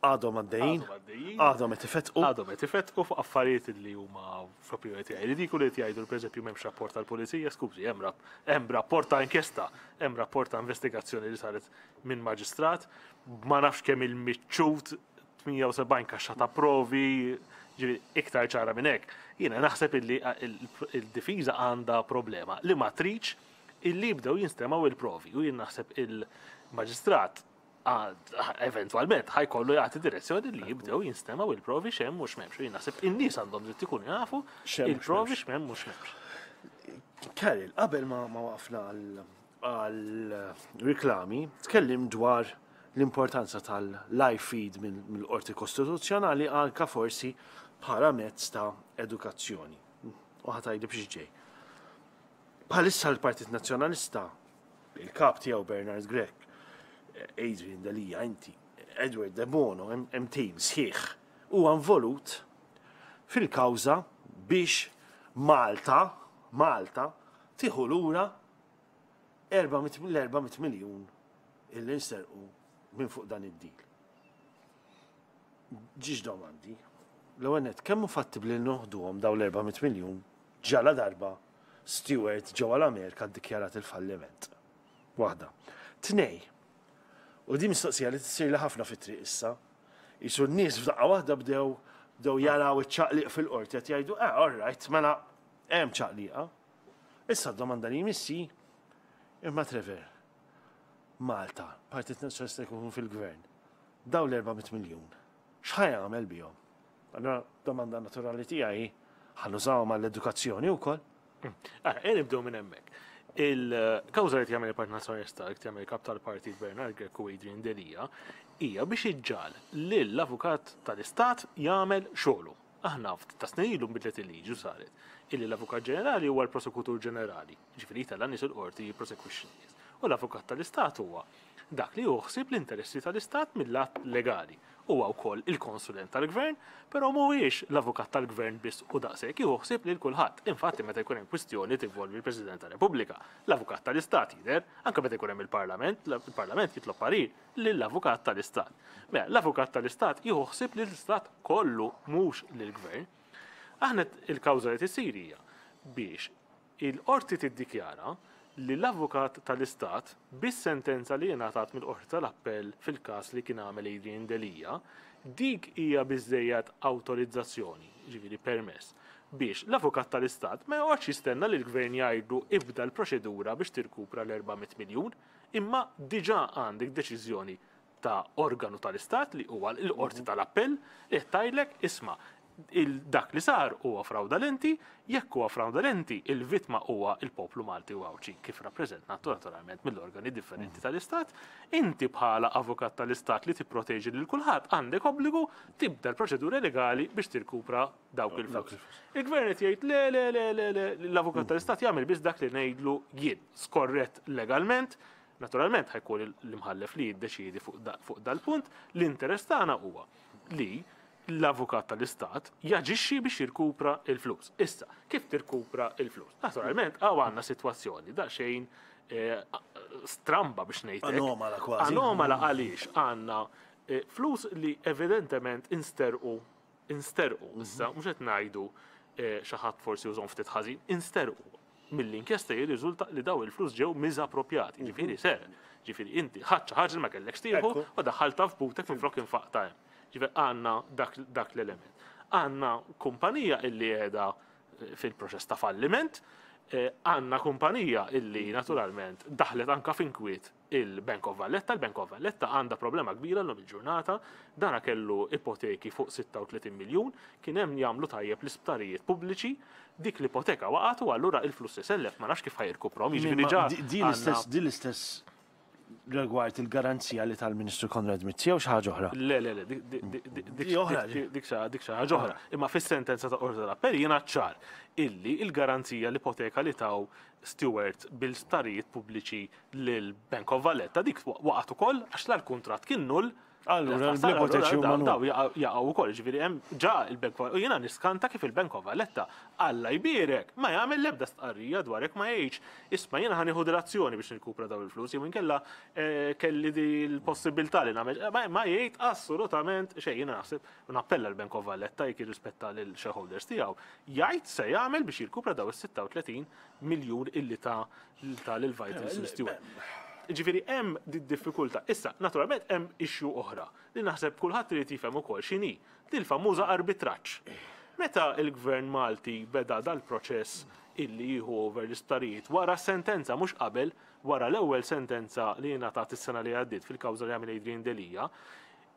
għadhom għaddejjin, Għadhom għaddejjin. għadhom qed ifetqu. Għadhom qed ifetqu fuq affarijiet li huma fl-opinjoni tiegħi ridikoli li jgħidu pereżempju m'hemmx rapport tal-pulizija, skużi, hemm rap-, hemm rapport ta' inkjesta, hemm rapport ta' investigazzjoni li saret minn maġistrat, ma nafx kemm il-miċċut tmienja u sebgħin kaxxa ta' provi, Ġifieri iktar ċara minn hekk. Jiena naħseb illi il-difiża għandha problema li ma tridx illi jibdew jinstemgħu il-provi u jien naħseb il-maġistrat eventwalment ħa jkollu jagħti direzzjoni li jibdew jinstemgħu il-provi x'hemm u x'm'hemmx. U jien naħseb in-nies għandhom dritt ikunu jafu il-provi x'hemm u x'm'hemmx. Karol, qabel ma waqfna għal-riklami, tkellim dwar l-importanza tal-live feed mill-Qorti Kostituzzjonali anka forsi bħala mezz ta' edukazzjoni. U ħa tgħidli biex ġej. Bħalissa l-Partit Nazzjonalista, il-kap tiegħu Bernard Grech, Adrian Delia, inti, Edward De Bono, hemm team sħiħ, huwa involut fil-kawża biex Malta, Malta, tieħu lura l-erba' mitt miljun illi nsterqu minn fuq dan id-deal. Ġiġ domandi. L-ewwel nett, kemm hu fattibbli li noħduhom dawn l-erba' mitt miljun ġala darba Steward ġewwa l-Amerika ddikjarat il-falliment. Waħda. Tnej. U di mistoqsija li tsir li ħafna fit-triq issa. Isu n-nies f'daqqa waħda bdew bdew jaraw iċ-ċaqliq fil-qorti qed jgħidu, eh, all right, mela hemm ċaqliqa. Issa d-domanda li jmissi, imma Trevor, Malta, Partit Nazzjonalista jkun fil-gvern, daw l-erba' mitt miljun, x'ħa jagħmel bihom? Allora, domanda naturali tiegħi, ħa nużawhom għall-edukazzjoni wkoll? Ara, ejja nibdew minn hemmhekk. Il-kawża li jagħmel il-Partit Nazzjonalista, li jagħmel il-kap tal-Partit Bernard Grech u Adrian Delia, hija biex iġġal lill-avukat tal-Istat jagħmel xogħlu. Aħna ftit ta' snin ilu nbidlet il-liġi u saret illi l-Avukat Ġenerali huwa l-Prosekutur Ġenerali, ġifieri jtella' nies il-qorti jipprosekwixxi nies. U l-Avukat tal-Istat huwa dak li juħsib l-interessi tal-Istat mill-att legali. Huwa wkoll il-konsulent tal-gvern, però mhuwiex l-avukat tal-gvern biss u daqshekk jieħu lil kulħadd. Infatti meta jkun hemm kwistjoni tinvolvi l-President tar-Repubblika, l-avukat tal-Istat jidher, anke meta jkun hemm il-Parlament, il-Parlament jitlob parir lill-avukat tal-Istat. Mela, l-avukat tal-Istat jieħu ħsieb lill-Istat kollu mhux lill-gvern. Aħna il-kawża li tisir hija biex il-qorti tiddikjara li l-avukat tal-Istat bis-sentenza li ngħatat mill-Qorti tal-Appell fil-każ li kien għamel Adrian Delia, dik hija biżejjed awtorizzazzjoni, ġifieri permess, biex l-avukat tal-Istat ma joqgħodx jistenna li l-gvern jgħidlu ibda l-proċedura biex tirkupra l-erba' mitt miljun, imma diġà għandek deċiżjoni ta' organu tal-Istat li huwa l-Qorti tal-Appell li qed tgħidlek isma' dak li sar huwa fraudalenti, jekk huwa fraudalenti, il-vittma huwa il-poplu Malti u Għawdxi kif rappreżentat naturalment mill-organi differenti tal-Istat, inti bħala avukat tal-Istat li tipproteġi lil kulħadd għandek obbligu tibda l-proċedura legali biex tirkupra dawk il-flus. Il-gvern qed jgħid le, le, le, le, le, l-avukat tal-Istat jagħmel biss dak li ngħidlu jien, skorrett legalment. Naturalment ħa jkun l-imħallef li jiddeċiedi fuq dal-punt, l-interess tagħna huwa li l-avukat tal-Istat jaġixxi biex jirkupra il-flus. Issa, kif tirkupra il-flus? Naturalment, għaw għandna sitwazzjoni daqsxejn stramba biex ngħidlek. Anomala kważi. Anomala għaliex għandna flus li evidentement insterqu, insterqu, issa mhux qed ngħidu xi ħadd forsi użhom ftit ħażin, insterqu. Mill-inkjesta jirriżulta li daw il-flus ġew miżapproprjati, ġifieri ser, ġifieri inti ħadd xi ħaġa li ma kellekx tieħu u daħħalta f'butek minflok infaqta hemm. Ġifieri għandna dak l-element. Għandna kumpanija illi qiegħda fil-proċess ta' falliment, għandna kumpanija illi naturalment daħlet anka f'inkwiet il-Bank of Valletta. Il-Bank of Valletta għandha problema kbira llum il-ġurnata, dana kellu ipoteki fuq sitta u tletin miljun, kien hemm jagħmlu tajjeb l-isptarijiet pubbliċi, dik l-ipoteka waqgħet u allura il-flus isellef ma nafx kif ħa jirkuprom, jiġifieri ġa Din l-istess, din l-istess rigward il-garanzija li tal-Ministru Konrad Mizzi jew xi ħaġa oħra? Le, le, le, dik, dik, dik, dik, Di oħra, dik, dik xi, dik xi ħaġa oħra. Imma fis-sentenza ta' Qorti tal-Appell jiena ċar illi il-garanzija l-ipoteka li taw Steward bil-sptarijiet pubbliċi lil Bank of Valletta dik waqgħet ukoll għax l-kuntratt kien null. Allura, Daw, l-ipoteċi huma daw, null. daw jaqgħu wkoll, ġifieri hemm ġa il-Bank of, u jiena niskanta kif il-Bank of Valletta Alla jbierek ma jagħmel l-ebda stqarrija dwar hekk, ma jgħidx isma' jiena ħa nieħu dil-azzjoni biex nirkupra daw il-flus, jew inkella, eh, kelli di l-possibilità li nagħmel, ma, ma jgħid assolutament xejn. Jiena naħseb u nappella l-Bank of Valletta jekk jirrispetta lil shareholders tiegħu, jgħid se jagħmel biex jirkupra daw is-sitta u tletin miljun illi ta' ta' lil Vitals Steward. Ġifieri hemm di diffikultà. Issa, naturalment hemm issue oħra li naħseb kulħadd irid jifhem ukoll x'inhi, dil-famuża arbitraġġ. Meta il-Gvern Malti beda dal-proċess illi jieħu over l-isptarijiet wara sentenza, mhux qabel, wara l-ewwel sentenza li ngħatat is-sena li għaddiet fil-kawża li għamel Adrian Delia,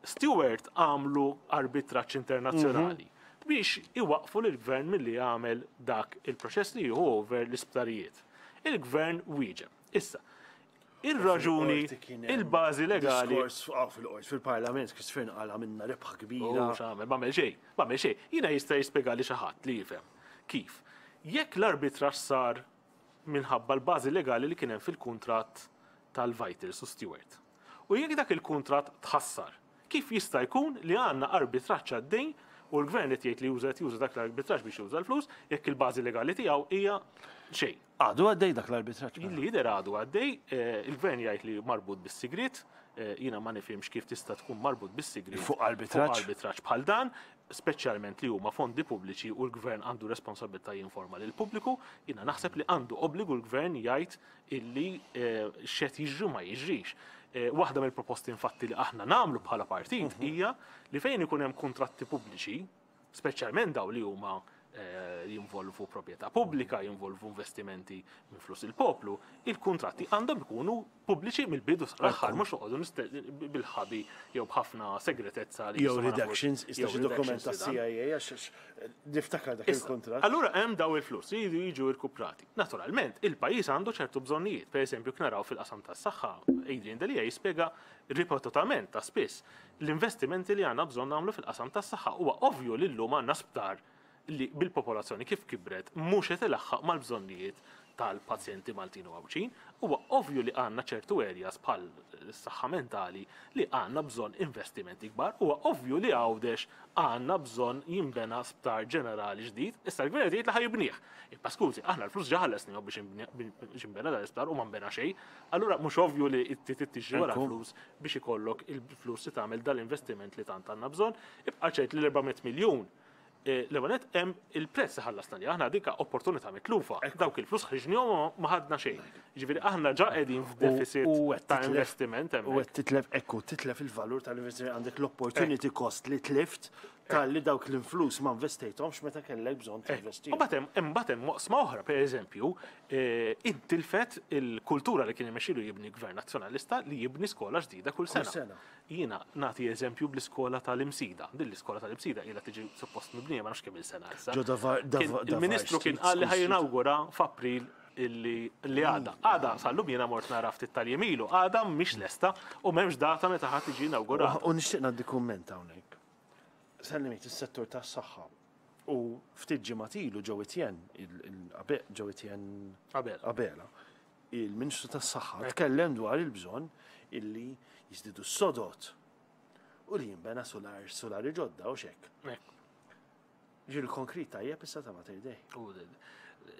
Steward għamlu arbitraġġ internazzjonali biex iwaqfu lill-gvern milli jagħmel dak il-proċess li jieħu over l-isptarijiet. Il-gvern wieġeb. Issa, ir-raġuni, Fil-qorti kien hemm il-bażi legali. Diskors ah, fil-qorti, fil-parlament, Chris Fearne qal għamilna rebħa kbira. Oh, x'għamel, m'għamel xejn, m'għamel xejn. Jiena jista' jispjegali xi ħadd li jifhem. Kif? Jekk l-arbitraġġ sar minħabba l-bażi legali li kien hemm fil-kuntratt tal-Vitals u Steward. U jekk dak il-kuntratt tħassar, kif jista' jkun li għandna arbitraġġ għaddej u l-gvern qed jgħid li juża qed juża dak l-arbitraġġ biex juża l-flus jekk il-bażi legali tiegħu hija xejn? Għadu għaddej dak l-arbitraġġ, mela? Il-lider għadu għaddej, eh, il-gvern jgħid li marbut bis-sigriet, eh, jiena ma nifhimx kif tista' tkun marbut bis-sigriet. Fuq arbitraġġ? Fuq arbitraġġ bħal dan, speċjalment li huma fondi pubbliċi u l-gvern għandu responsabilità jinforma lil pubbliku, jiena naħseb li għandu obbligu l-gvern jgħid illi eh, x'qed jiġri ma jiġrix. Eh, Waħda mill-proposti infatti li aħna nagħmlu bħala partit hija li fejn ikun hemm kontratti pubbliċi, speċjalment daw li huma eh, jinvolvu proprjetà pubblika, jinvolvu investimenti minn flus il-poplu, il-kontratti għandhom ikunu pubbliċi mill-bidu sal-aħħar, mhux noqogħdu niste- bil-ħabi jew b'ħafna segretezza li Jew jistgħu ma nafux. redactions, ista Jew xi dokument redactions ta' li dan. C I A, għax niftakar dak Issa, il-kontrat. allura hemm daw il-flus li jridu jiġu rkuprati. Naturalment, il-pajjiż għandu ċertu bżonnijiet. Per eżempju, naraw fil-qasam tas-saħħa, Adrian Delia jispjega ripetutament ta' spiss l-investimenti li għandna bżonn nagħmlu fil-qasam tas-saħħa. Huwa ovvju li llum għandna sptar li bil-popolazzjoni kif kibret mhux qed ilaħħaq mal-bżonnijiet tal-pazjenti Maltin u Għawdxin. Huwa ovvju li għandna ċertu areas bħal s-saħħa mentali li għandna bżonn investimenti kbar. Huwa ovvju li Għawdex għandna bżonn jinbena sptar ġenerali ġdid. Issa l-gvern jgħid li ħa jibnih. Imma skużi, aħna l-flus ġa ħallasnihom biex inbni- biex jinbena dal-isptar u ma nbena xejn. Allura mhux ovvju li tiġri wara Ekku. flus biex ikollok il-flus li tagħmel dal-investiment li tant għandna bżonn. Ibqa' ċert li l-erba' mitt miljun Eh, L-ewwel hemm il-prezz li ħallasna li aħna dika opportunità mitlufa. Dawk il-flus ħriġnihom ma ħadna xejn. Ġifieri aħna ġa qegħdin f'deficit U qed ta' titlef- investiment U hemmhekk. qed titlef, ekku, titlef il-valur tal-investiment, għandek l-opportunity cost li tlift tal-li dawk l-influs ma investejthomx meta kellek bżonn tinvesti. U batem, batem oqsma oħra, per eżempju, eh, intilfet il-kultura li kien imexxilu jibni gvern nazzjonalista li jibni skola ġdida kull sena. Sena. Jiena nagħti eżempju bl-iskola tal-Imsida. Din l-iskola tal-Imsida ilha tiġi suppost mibnija ma nafx kemm il-sena issa. Ġo davar- Kien- davar- Il-Ministru kien Street, qal li School Street. ħa jinawgura f'April illi li għada. Għada, sal-lum jiena mort nara ftit tal-jiem ilu, għada mhix lesta u m'hemmx data meta ħadd tiġi inaugurata. U nixtieq ngħaddi kumment hawnhekk. Sellimit is-settur tas-saħħa u ftit ġimgħat ilu Joe Etienne, Joe Etienne Abela. Abela, il-Ministru tas-Saħħa tkellem dwar il-bżonn illi jiżdiedu s-sodod u li jinbena solar solari ġodda u xek. Ekku. Ġi l-konkrit tajjeb issa ta' Mater Dei. U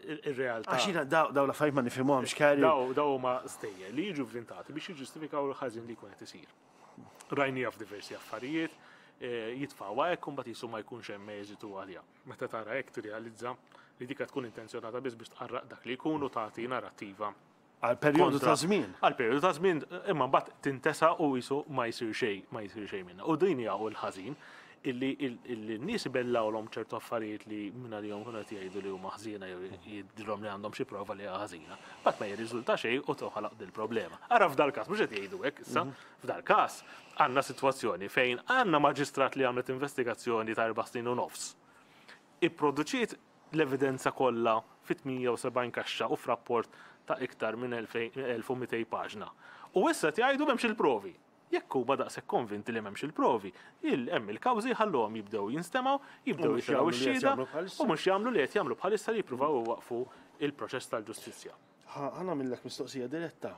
il-realtà. Għax jiena daw daw l-affarijiet ma nifhimhomx, Karri. Daw daw huma stejjer li jiġu vvintati biex jiġġustifikaw il-ħażin li jkun qed isir. Rajnija f'diversi affarijiet, eh, jitfgħuha hekk u mbagħad jisu ma jkunx hemm eżitu għalija. Meta tara hekk tirrealizza li dika tkun intenzjonata biss biex tqarraq dak li jkun u tagħti narrattiva Għal perjodu kontra- ta' żmien. Għal perjodu ta' żmien, imma mbagħad tintesa u jisu ma jsir xejn, ma jsir xejn minnha. U din hija u l-ħażin illi illi n-nies ibellawlhom ċertu affarijiet li minn għalihom kienu qed jgħidu li huma ħżiena jew jidhirhom li għandhom xi prova li hija ħażina. Mbagħad ma jirriżulta xejn u toħlaq dil-problema. Ara f'dal każ mhux qed jgħidu hekk issa, f'dal każ għandna sitwazzjoni fejn għandna maġistrat li għamlet investigazzjoni ta' erba' snin u nofs. Ipproduċiet l-evidenza kollha fi tmienja u sebgħin kaxxa u f'rapport ta' iktar minn elf u mitejn paġna. U issa jgħidu m'hemmx il-provi. Jekk huma daqshekk konvinti li m'hemmx il-provi, il hemm il-kawżi ħalluhom jibdew jinstemgħu, jibdew U mhux jitilgħu jagħmlu li qed x-xhieda jagħmlu bħalissa. U mhux jagħmlu li qed jagħmlu bħalissa li jippruvaw iwaqfu il-proċess tal-ġustizzja. Ħa nagħmillek mistoqsija diretta.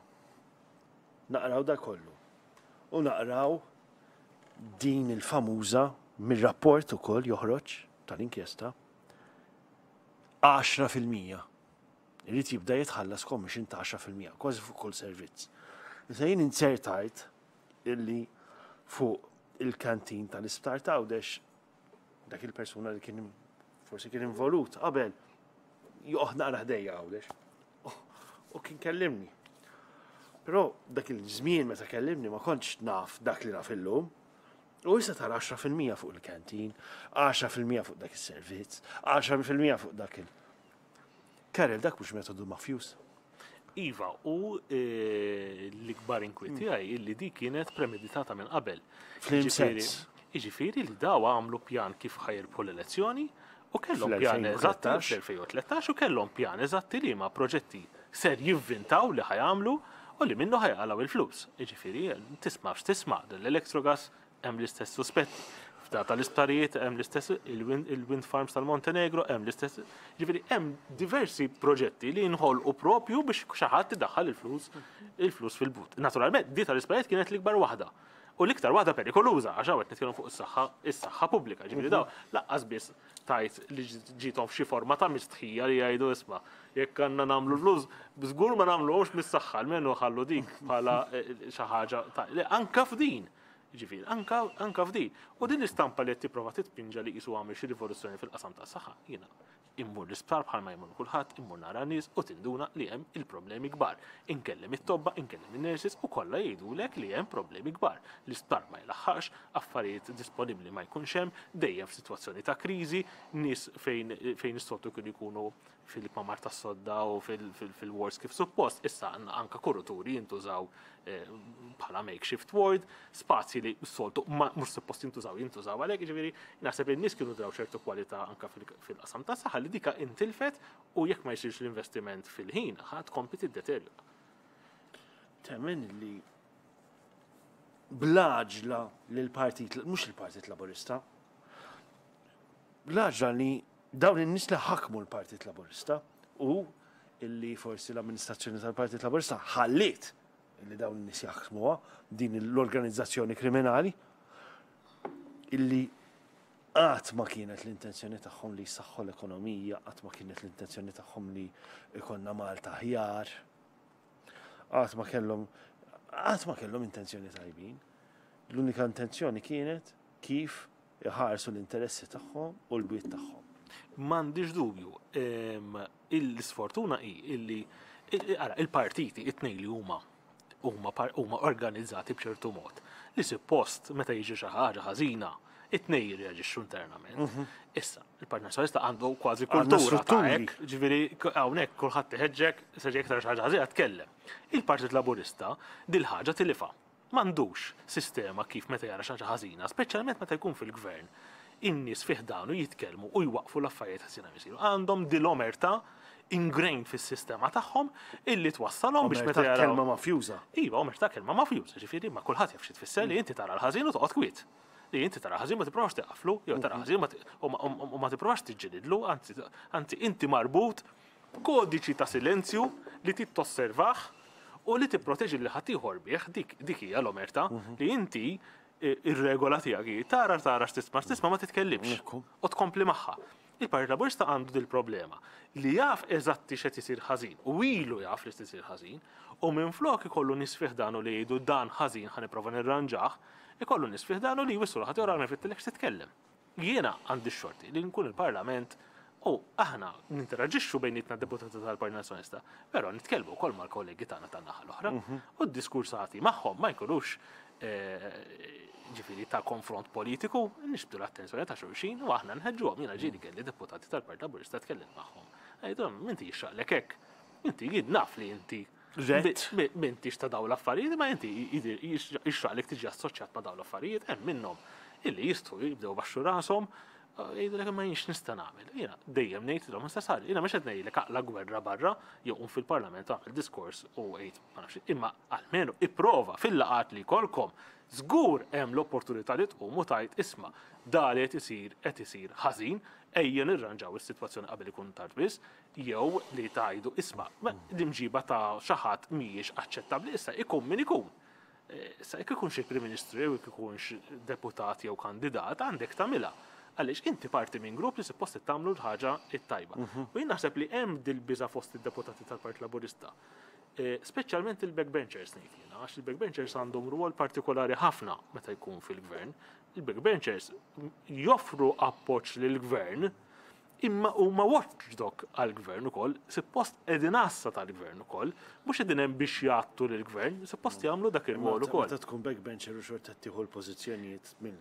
Naqraw da kollu. U naqraw din il-famuża mir-rapport ukoll joħroġ tal-inkjesta għaxra fil-mija. Irid jibda jitħallas commission ta' għaxra fil-mija, kważi fuq kull servizz. Issa jien inzertajt illi fuq il-kantin tal-isptar ta' Għawdex dak il-persuna li kien forsi kien involut qabel joqgħod naqra ħdejja Għawdex. U kien kellimni. Però dak il-żmien meta kellimni ma kontx naf dak li naf illum. U issa tara għaxra fil-mija fuq il-kantin, għaxra fil-mija fuq dak is-servizz, għaxra fil-mija fuq dak il. Karel, dak mhux metodu mafjuż. Iva, u eh, l-ikbar inkwiet tiegħi illi di kienet premeditata minn qabel. F'liem Jiġifieri- sens? Jiġifieri li daw għamlu pjan kif ħa jirbħu l-elezzjoni u kellhom pjan eżatti Fl-elfejn u tlettax. fl-elfejn u tlettax u kellhom pjan eżatti li ma proġetti ser jivvintaw li ħa jagħmlu u li minnu ħa jaqilgħu il-flus. Jiġifieri tisma' x'tisma' l-Electrogas hemm l-istess suspetti. F'da tal-isptarijiet hemm l-istess, il-wind il-wind farms tal-Montenegro hemm l-istess. Ġifieri hemm diversi proġetti li nħolqu propju biex xi ħadd idaħħal il-flus il-flus fil-but. Naturalment, di tal-isptarijiet kienet l-ikbar waħda. U l-iktar waħda perikoluża, għax hawn qed nitkellmu fuq is-saħħa is-saħħa pubblika. Ġifieri daw lanqas biss tajt li ġiethom f'xi forma ta' mistħija li jgħidu, "Isma', jekk għandna nagħmlu flus, żgur ma nagħmluhomx mis-saħħa, almenu ħallu dik bħala eh, xi ħaġa ta' le, anka f'din. Ġifieri, anka, anka f'din. U din l-istampa li qed tipprova titpinġa li qisu għamel xi rivoluzzjoni fil-qasam tas-saħħa, jiena immur l-isptar bħalma jmur kulħadd, immur nara nies u tinduna li hemm il-problemi kbar. Inkellem it-tobba, inkellem in-nurses u kollha jgħidulek li hemm problemi kbar. L-isptar ma jlaħħax, affarijiet disponibbli ma jkunx hemm, dejjem f'sitwazzjoni ta' kriżi, nies fejn fejn is-soltu kienu jkunu fil-kmamar tas-sodda u fil-wards kif suppost, issa għandna anka kuruturi jintużaw eh, bħala makeshift ward, spazji li s-soltu ma mhux suppost jintużaw jintużaw għalhekk, ġifieri naħseb li n-nies kienu draw ċertu kwalità anka fil- fil-qasam ta' saħħa li dika intilfet u jekk ma jsirx l-investiment fil-ħin, ħa tkompli tiddeterjora. Temmen li bl-għaġla li l-partit, mhux il-Partit Laburista, bl-għaġla li dawn in-nies li ħakmu l-Partit Laburista u illi forsi l-amministrazzjoni tal-Partit Laburista ħalliet illi dawn in-nies jaħkmuha din l-organizzazzjoni kriminali, illi qatt ma kienet l-intenzjoni tagħhom li jsaħħu l-ekonomija, qatt ma kienet l-intenzjoni tagħhom li ikollna Malta aħjar, qatt ma kellhom qatt ma kellhom intenzjoni tajbin. L-unika intenzjoni kienet kif iħarsu l-interessi tagħhom u l-bwiet tagħhom. M'għandix dubju, em, il-sfortuna hi illi il- ara, il-partiti it-tnejn li huma huma par- huma organizzati b'ċertu mod li suppost meta jiġi xi ħaġa ħażina it-tnejn jirreaġixxu internament. Issa, il-Partit Nazzjonalista għandu kważi Għandna kultura ta' strutturi. hekk, ġifieri k- hawnhekk kulħadd iħeġġek, se ġej iktar xi ħaġa ħażina tkellem. Il-Partit Laburista dil-ħaġa tilifha. M'għandux sistema kif meta jara xi ħaġa ħażina, speċjalment meta jkun fil-gvern, in-nies fi ħdanu jitkellmu u jwaqfu l-affarijiet ħażina jsiru. Għandhom dil-omerta ingrained fis-sistema tagħhom illi twassalhom biex meta Omerta jaraw. kelma mafjuża. Iva, omerta kelma mafjuża, ġifieri ma kulħadd jaf xi tfisser li inti tara l-ħażin u toqgħod kwiet. Li inti tara ħażin ma tipprovax teqaflu, jew tara ħażin ma ti- u ma- u ma tipprovax tiġġelidlu, anzi anzi inti marbut kodiċi ta' silenzju li titosservah u li tipproteġi li ħaddieħor bih, dik dik hija l-omerta li inti eh, ir-regola tiegħek hi tara tara x'tisma' x'tisma' ma titkellimx Ekku. u tkompli magħha. Il-Partit Laburista għandu dil problema li jaf eżatti x'qed isir ħażin u ilu jaf li isir ħażin u minflok ikollu nies fi ħdanu li jgħidu, "Dan ħażin, ħa nipprova nirranġah", ikollu nies fi ħdanu li jwissu ħadd jora nifittilek titkellem. Jiena għandi x-xorti li nkun il-Parlament u aħna ninteraġixxu bejnietna deputati tal-Partit Nazzjonalista, però nitkellmu wkoll mal-kollegi tagħna tan-naħa l-oħra u d-diskursati magħhom ma jkunux eh, ġifieri ta' konfront politiku, nixbdu l-attenzjoni ta' xulxin u aħna nħeġġuhom. Jiena ġieli kelli deputati tal-Partit Laburista tkellem magħhom. Għidhom, "Inti jixraqlek hekk. Inti jien naf li inti Rett. bi- m'intix ta' dawn l-affarijiet, ma inti jixraqlek tiġi assoċjat ma' dawn l-affarijiet." Hemm minnhom illi jistgħu jibdew baxxu rashom, jgħidu ma jienx nista' nagħmel. Jiena dejjem ngħidilhom issa sar, jiena mhux qed ngħidlek aqla gwerra barra jew qum fil-Parlament għamel diskors u għid ma nafx, imma almenu ipprova fil-laqat li jkollkom żgur hemm l-opportunità li tqum u tgħid, "Isma', da li qed isir qed isir ħażin, ejja nirranġaw is-sitwazzjoni qabel ikun tard biss", jew li tgħidu, "Isma', l-imġiba ta' xi ħadd mhijiex aċċettabbli", issa ikun min ikun. Eh, Issa jekk ikunx il-Prim Ministru jew jekk ikunx deputat jew kandidat, għandek tagħmilha. Għaliex inti parti minn grupp li suppost tagħmlu l-ħaġa it-tajba. U jien naħseb li hemm dil-biża fost id-deputati tal-Partit Laburista. Eh, Speċjalment il-backbenchers ngħid jiena, għax il-backbenchers għandhom rwol partikolari ħafna meta jkun fil-gvern. Il-backbenchers joffru appoġġ lill-gvern Imma huma watchdog għall-gvern ukoll, suppost qegħdin għassa tal-gvern ukoll, mhux qegħdin hemm biex jgħattu lill-gvern, suppost jagħmlu dak ir-rwol ukoll. Meta tkun backbencher u xorta tieħu l-pożizzjonijiet minn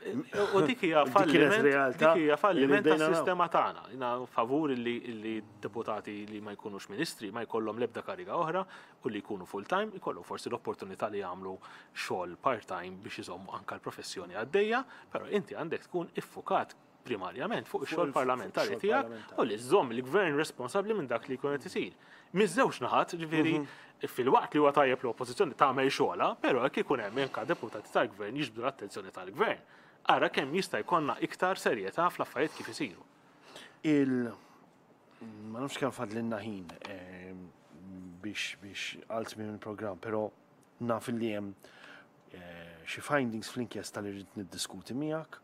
U dik hija falliment, dik hija falliment tas-sistema tagħna. Jiena favur li li deputati li ma jkunux ministri ma jkollhom l-ebda kariga oħra u li jkunu full time, jkollhom forsi l-opportunità li jagħmlu xogħol part-time biex iżommu anke l-professjoni għaddejja, però inti għandek tkun iffukat primarjament fuq ix-xogħol parlamentari tiegħek u li żżomm il-gvern responsabbli minn dak li jkun qed isir. Miż-żewġ naħat, ġifieri fil-waqt li huwa tajjeb l-oppożizzjoni tagħmel xogħolha, però jekk ikun hemm anke deputati tal-gvern jiġbdu l-attenzjoni tal-gvern. Ara kemm jista' jkollna iktar serjetà fl-affarijiet kif isiru. Il ma nafx kemm fadlilna ħin eh, biex biex għal tmiem il-programm, però naf li hemm eh, xi findings fl-inkjesta li rrid niddiskuti miegħek,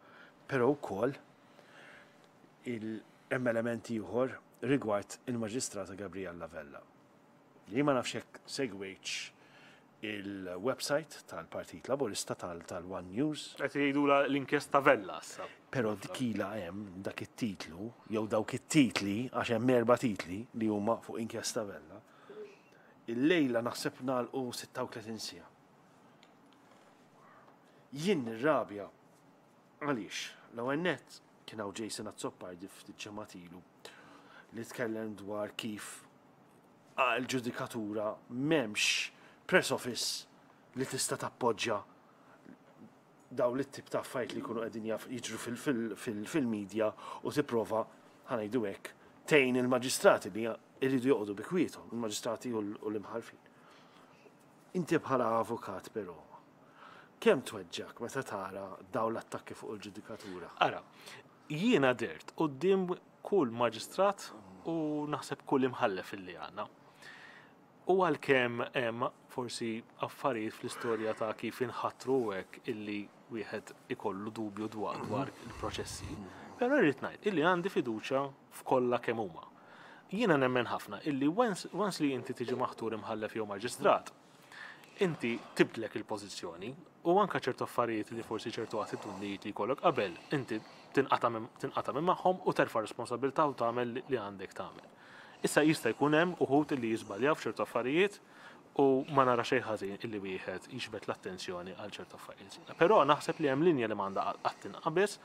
però wkoll hemm element ieħor rigward il-Maġistrata Gabriella Vella. Li ma nafx jekk segwejtx il-website tal-Partit Laburista tal-One News. Qed jgħidula l-inkjesta Vella issa. Però dik ilha hemm dak it-titlu, jew dawk it-titli, għax hemm erba' titli li huma fuq inkjesta Vella. Il-lejla naħseb nagħlqu sitta u tletin siegħa. Jien nirrabja għaliex l-ewwel nett kien hawn Jason Azzopardi ftit ġimgħat ilu li tkellem dwar kif għal-ġudikatura m'hemmx press office li tista' tappoġġja daw li tip ta' affarijiet li jkunu qegħdin jiġru fil-medja u tipprova, ħa ngħidu hekk, tgħin il-maġistrati li jridu joqogħdu bi kwiethom, il-maġistrati u l-imħalfin. Inti bħala avukat però, kemm tweġġak meta tara daw l-attakki fuq il-ġudikatura? Ara, jiena dert quddiem kull maġistrat u naħseb kull imħallef illi għandna. U għalkemm hemm forsi affarijiet fl-istorja ta' kif inħatru hekk illi wieħed ikollu dubju dwar dwar il-proċessi, però rrid ngħid illi għandi fiduċja f'kollha kemm huma. Jiena nemmen ħafna illi once once li inti tiġi maħtur imħallef jew maġistrat, inti tibdlek il-pożizzjoni u anka ċertu affarijiet li forsi ċertu attitudnijiet li jkollok qabel, inti tinqata' minn tinqata' minn magħhom u terfa' responsabilità u tagħmel li għandek tagħmel. Issa jista' jkun hemm uħud li jiżbaljaw f'ċertu affarijiet u ma nara xejn ħażin illi wieħed jiġbed l-attenzjoni għal ċertu affarijiet. Però naħseb li hemm linja li m'għandha qatt tinqabeż,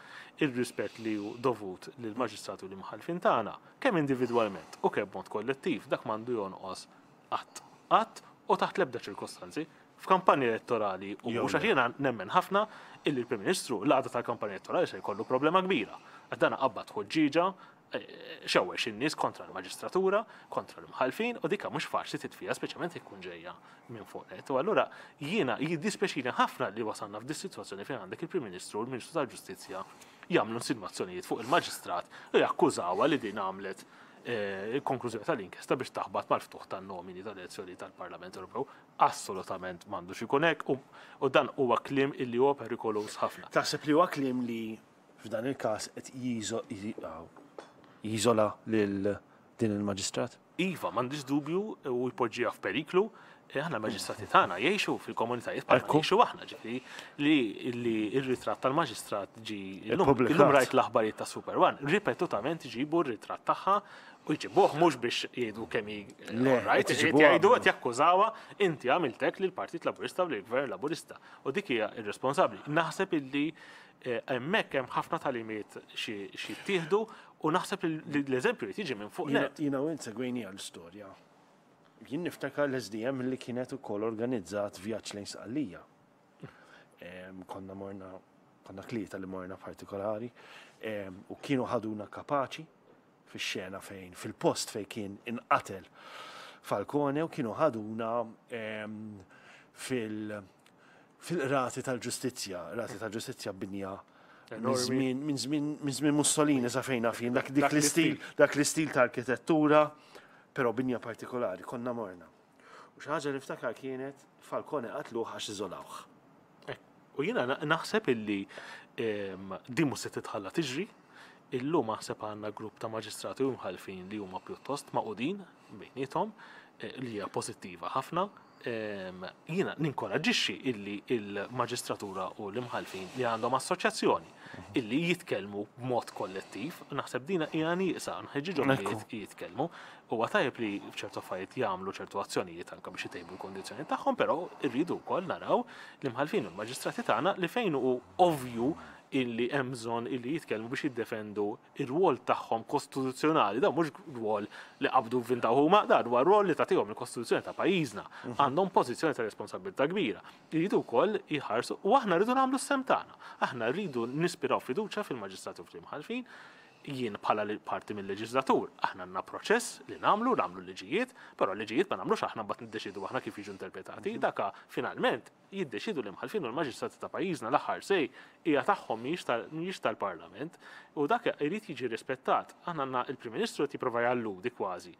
ir-rispett li hu dovut lill-maġistrati u l-imħallfin tagħna, kemm individwalment u kemm mod kollettiv, dak m'għandu jonqos qatt. Qatt u taħt l-ebda ċirkostanzi. F'kampanja elettorali u Jew mhux, għax le. jiena nemmen ħafna illi l-Prim Ministru l-għada tal-kampanja elettorali se jkollu problema kbira. Għax dana qabad ħuġġiġa, eh, xewwex in-nies kontra l-maġistratura, kontra l-imħalfin, u dika mhux faċli titfija, speċjalment jekk ikun ġejja minn fuq net. U allura jiena jiddispjaċini ħafna li wasalna f'dis sitwazzjoni fejn għandek il-Prim Ministru u l-Ministru tal-Ġustizzja jagħmlu insinwazzjonijiet fuq il-maġistrat u jakkużawha li din għamlet eh, il-konklużjoni tal-inkjesta biex taħbat mal-ftuħ tan-nomini tal-elezzjoni tal-Parlament Ewropew. Assolutament m'għandux ikun hekk u- u dan huwa kliem illi huwa perikoluż ħafna. Taħseb li huwa kliem li f'dan il-każ qed jiżo- jiżo- jiżola lil din il-maġistrat? Iva, m'għandix dubju u jpoġġiha f'periklu. Eh, Aħna l-maġistrati tagħna jgħixu fil-komunitajiet bħalma Ekku. jgħixu aħna, ġifieri li li r-ritratt tal-maġistrat ġi illum Ippubblikat. Illum rajt l-aħbarijiet ta' Super One, ripetutament iġibu r-ritratt tagħha u jġibuh mhux biex jgħidu kemm hi Le, right, qed iġibuha. jgħidu, qed jakkużawha, inti għamiltek lil Partit Laburista u lill-Gvern Laburista. U dik hija irresponsabbli. Naħseb illi eh, hemmhekk hemm ħafna tagħlimiet xi xi ttieħdu u naħseb li l-eżempju li tiġi minn fuq Jiena net. jiena u int segwejni għal-istorja. Jien niftakar l-S D M li kienet ukoll organizzat vjaġġ lejn Sqallija. Em, Konna morna, konna tlieta li morna partikolari, em, u kienu ħaduna kapaċi fix-xena fejn, fil-post fejn kien inqatel Falcone, u kienu ħaduna em, fil- fil-qrati tal-ġustizzja, qrati tal-ġustizzja binja minn Enormi. żmien minn żmien minn żmien Mussolini sa fejna fin, dak dik Dak l-istil, l-istil. Dak l-istil ta' arkitettura, però binja partikolari, konna morna. U xi ħaġa li niftakar kienet Falcone qatluh għax iżolawh. Eh, U jiena na- naħseb illi em, din mhux se titħalla tiġri. Illum naħseb għandna grupp ta' maġistrati u mħalfin li huma pjuttost magħqudin bejniethom, eh, li hija pożittiva ħafna. Jiena ninkoraġġixxi illi il-maġistratura u l-imħalfin li għandhom assoċjazzjoni illi jitkellmu b'mod kollettiv, naħseb dina hija nieqsa, nħeġġiġhom li jitkellmu. Huwa tajjeb li f'ċertu affarijiet jagħmlu ċertu azzjonijiet anke biex itejbu l-kondizzjoni tagħhom, però rridu wkoll naraw l-imħalfin u l-maġistrati tagħna li fejn hu ovvju illi hemm bżonn illi jitkellmu biex jiddefendu ir-rwol tagħhom kostituzzjonali. Dan mhux rwol li qabdu vvintaw huma, dan huwa rwol li tagħtihom il-Kostituzzjoni ta' pajjiżna. Għandhom pożizzjoni ta' responsabilità kbira. Jridu wkoll jħarsu u aħna rridu nagħmlu s-sehem tagħna. Aħna rridu nispiraw fiduċja fil-maġistrati u fl-imħalfin. Jien bħala parti mill-leġislatur, aħna għandna proċess li nagħmlu, nagħmlu liġijiet, però liġijiet ma nagħmlux aħna, mbagħad niddeċidu aħna kif jiġu interpretati. Daka finalment jiddeċidu l-imħalfin u l-maġistrati ta' pajjiżna, l-aħħar sej hija tagħhom, mhijiex tal-Parlament, u dak irid jiġi rispettat. Aħna għandna il-Prim Ministru qed jipprova jalludi kważi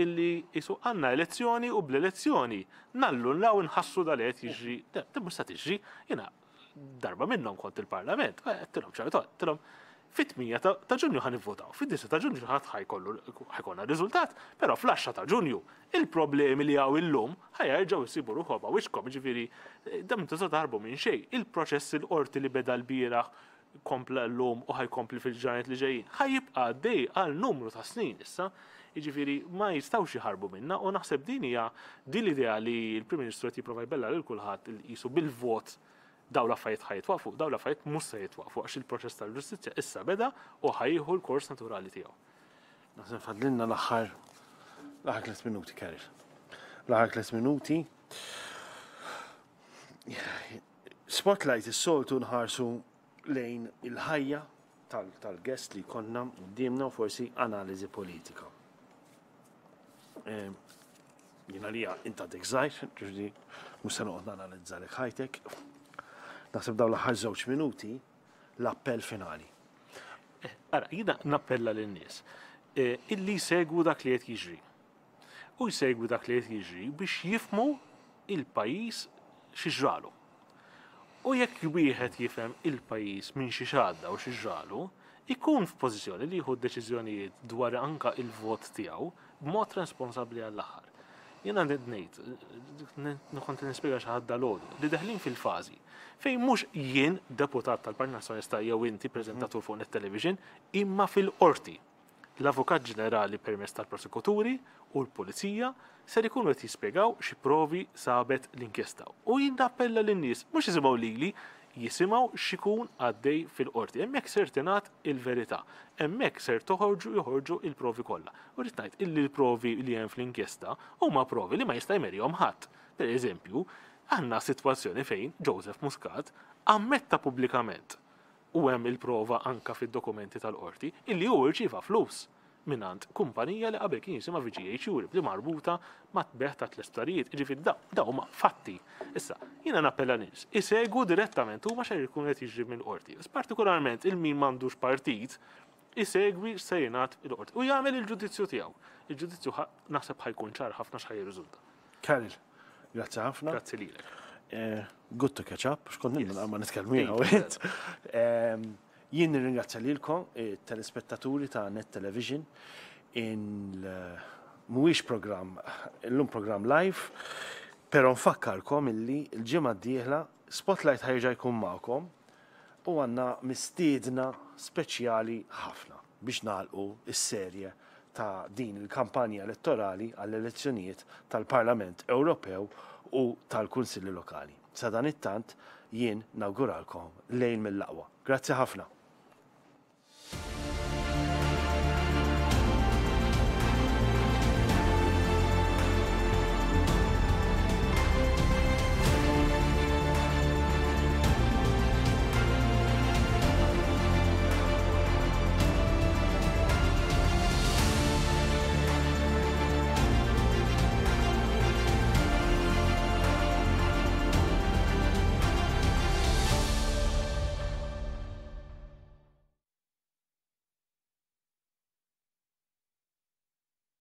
illi jisu għandna elezzjoni u bl-elezzjoni nallu nlaw nħassu dal qed jiġri. Da mhux sa tiġri. Jiena darba minnhom kont il-Parlament, għedtilhom ċartu, għedtilhom fit-tmienja ta' Ġunju ħa nivvotaw, fid-disgħa ta' Ġunju ħadd ħa jkollu ħa jkollna riżultat, però fl-għaxra ta' Ġunju il-problemi li hawn illum ħa jerġgħu jsibu ruħhom wiċċkom, ġifieri dan tista' taħarbu minn xejn. Il-proċess il-qorti li beda l-bieraħ kompla l-lum u ħa jkompli fil-ġranet li ġejjin. Ħa jibqa' għaddej għal numru ta' snin issa, jiġifieri ma jistgħux jħarbu minna, u naħseb din hija din l-idea li l-Prim Ministru qed jipprova jbella lil kulħadd il qisu bil-vot daw l-affarijiet ħa jitwaqfu, daw l-affarijiet mhux se jitwaqfu għax il-proċess tal-ġustizzja issa beda u ħa jieħu l-kors naturali tiegħu. Naħseb fadlilna l-aħħar l-aħħar tliet minuti, Karel. L-aħħar tliet minuti. Spotlight is-soltu nħarsu lejn il-ħajja tal-guest li konna quddiemna u forsi analiżi politika. Jiena li inta dik żgħir, ġifieri mhux se noqgħod nanalizza lek ħajtek. Naħseb dawn l-aħħar żewġ minuti l-appell finali. Ara, jiena nappella lin-nies illi jsegwu dak li qed jiġri. U jsegwu dak li qed jiġri biex jifhmu il-pajjiż xi ġralu. U jekk wieħed jifhem il-pajjiż minn xi xadda u xi ġralu, ikun f'pożizzjoni li jieħu deċiżjonijiet dwar anka il-vot tiegħu b'mod responsabbli għall-aħħar. Jiena ngħid, kont nispjega xi ħadd dalgħodu, li deħlin fil-fażi fejn mhux jien deputat tal-Partit Nazzjonalista jew inti preżentatur fuq Net Television, imma fil-qorti. L-Avukat Ġenerali permezz tal-prosekuturi u l-Pulizija ser ikunu qed jispjegaw xi provi sabet l-inkjesta. U jien nappella lin-nies mhux jisimgħu lili, jisimgħu x'ikun għaddej fil-qorti. Hemmhekk ser tingħad il-verità. Hemmhekk ser toħorġu joħorġu il-provi kollha. U rrid ngħid illi l-provi li hemm fl-inkjesta huma provi li ma jista' jmerihom ħadd. Per eżempju, għandna sitwazzjoni fejn Joseph Muscat ammetta pubblikament, u hemm il-prova anka fid-dokumenti tal-qorti, illi hu rċieva flus mingħand kumpanija li qabel kien jisimha V G H Europe li marbuta ma' bejgħ ta' tliet. Ġifieri da da huma fatti. Issa, jiena nappella nies isegwu direttament huma xejn jkun qed jiġri mill-qorti. Partikolarment il-min m'għandux partit isegwi se jingħad il-qorti u jagħmel il-ġudizzju tiegħu. Il-ġudizzju naħseb ħa jkun ċar ħafna x'ħa jirriżulta. Karel, grazzi ħafna. Grazzi lilek. Eh, good to catch up, xkont nilna ma nitkellmu jiena u int. Jien nirringrazzja lilkom, telespettaturi ta' Net Television, in mhuwiex programm, illum programm live, però nfakkarkom illi l-ġimgħa d-dieħla Spotlight ħa jerġa' jkun magħkom u għandna mistiedna speċjali ħafna biex nagħlqu is-serje ta' din il-kampanja elettorali għall-elezzjonijiet tal-Parlament Ewropew u tal-Kunsilli Lokali. Sa dan it-tant jien nawguralkom lejl mill-aqwa. Grazzi ħafna.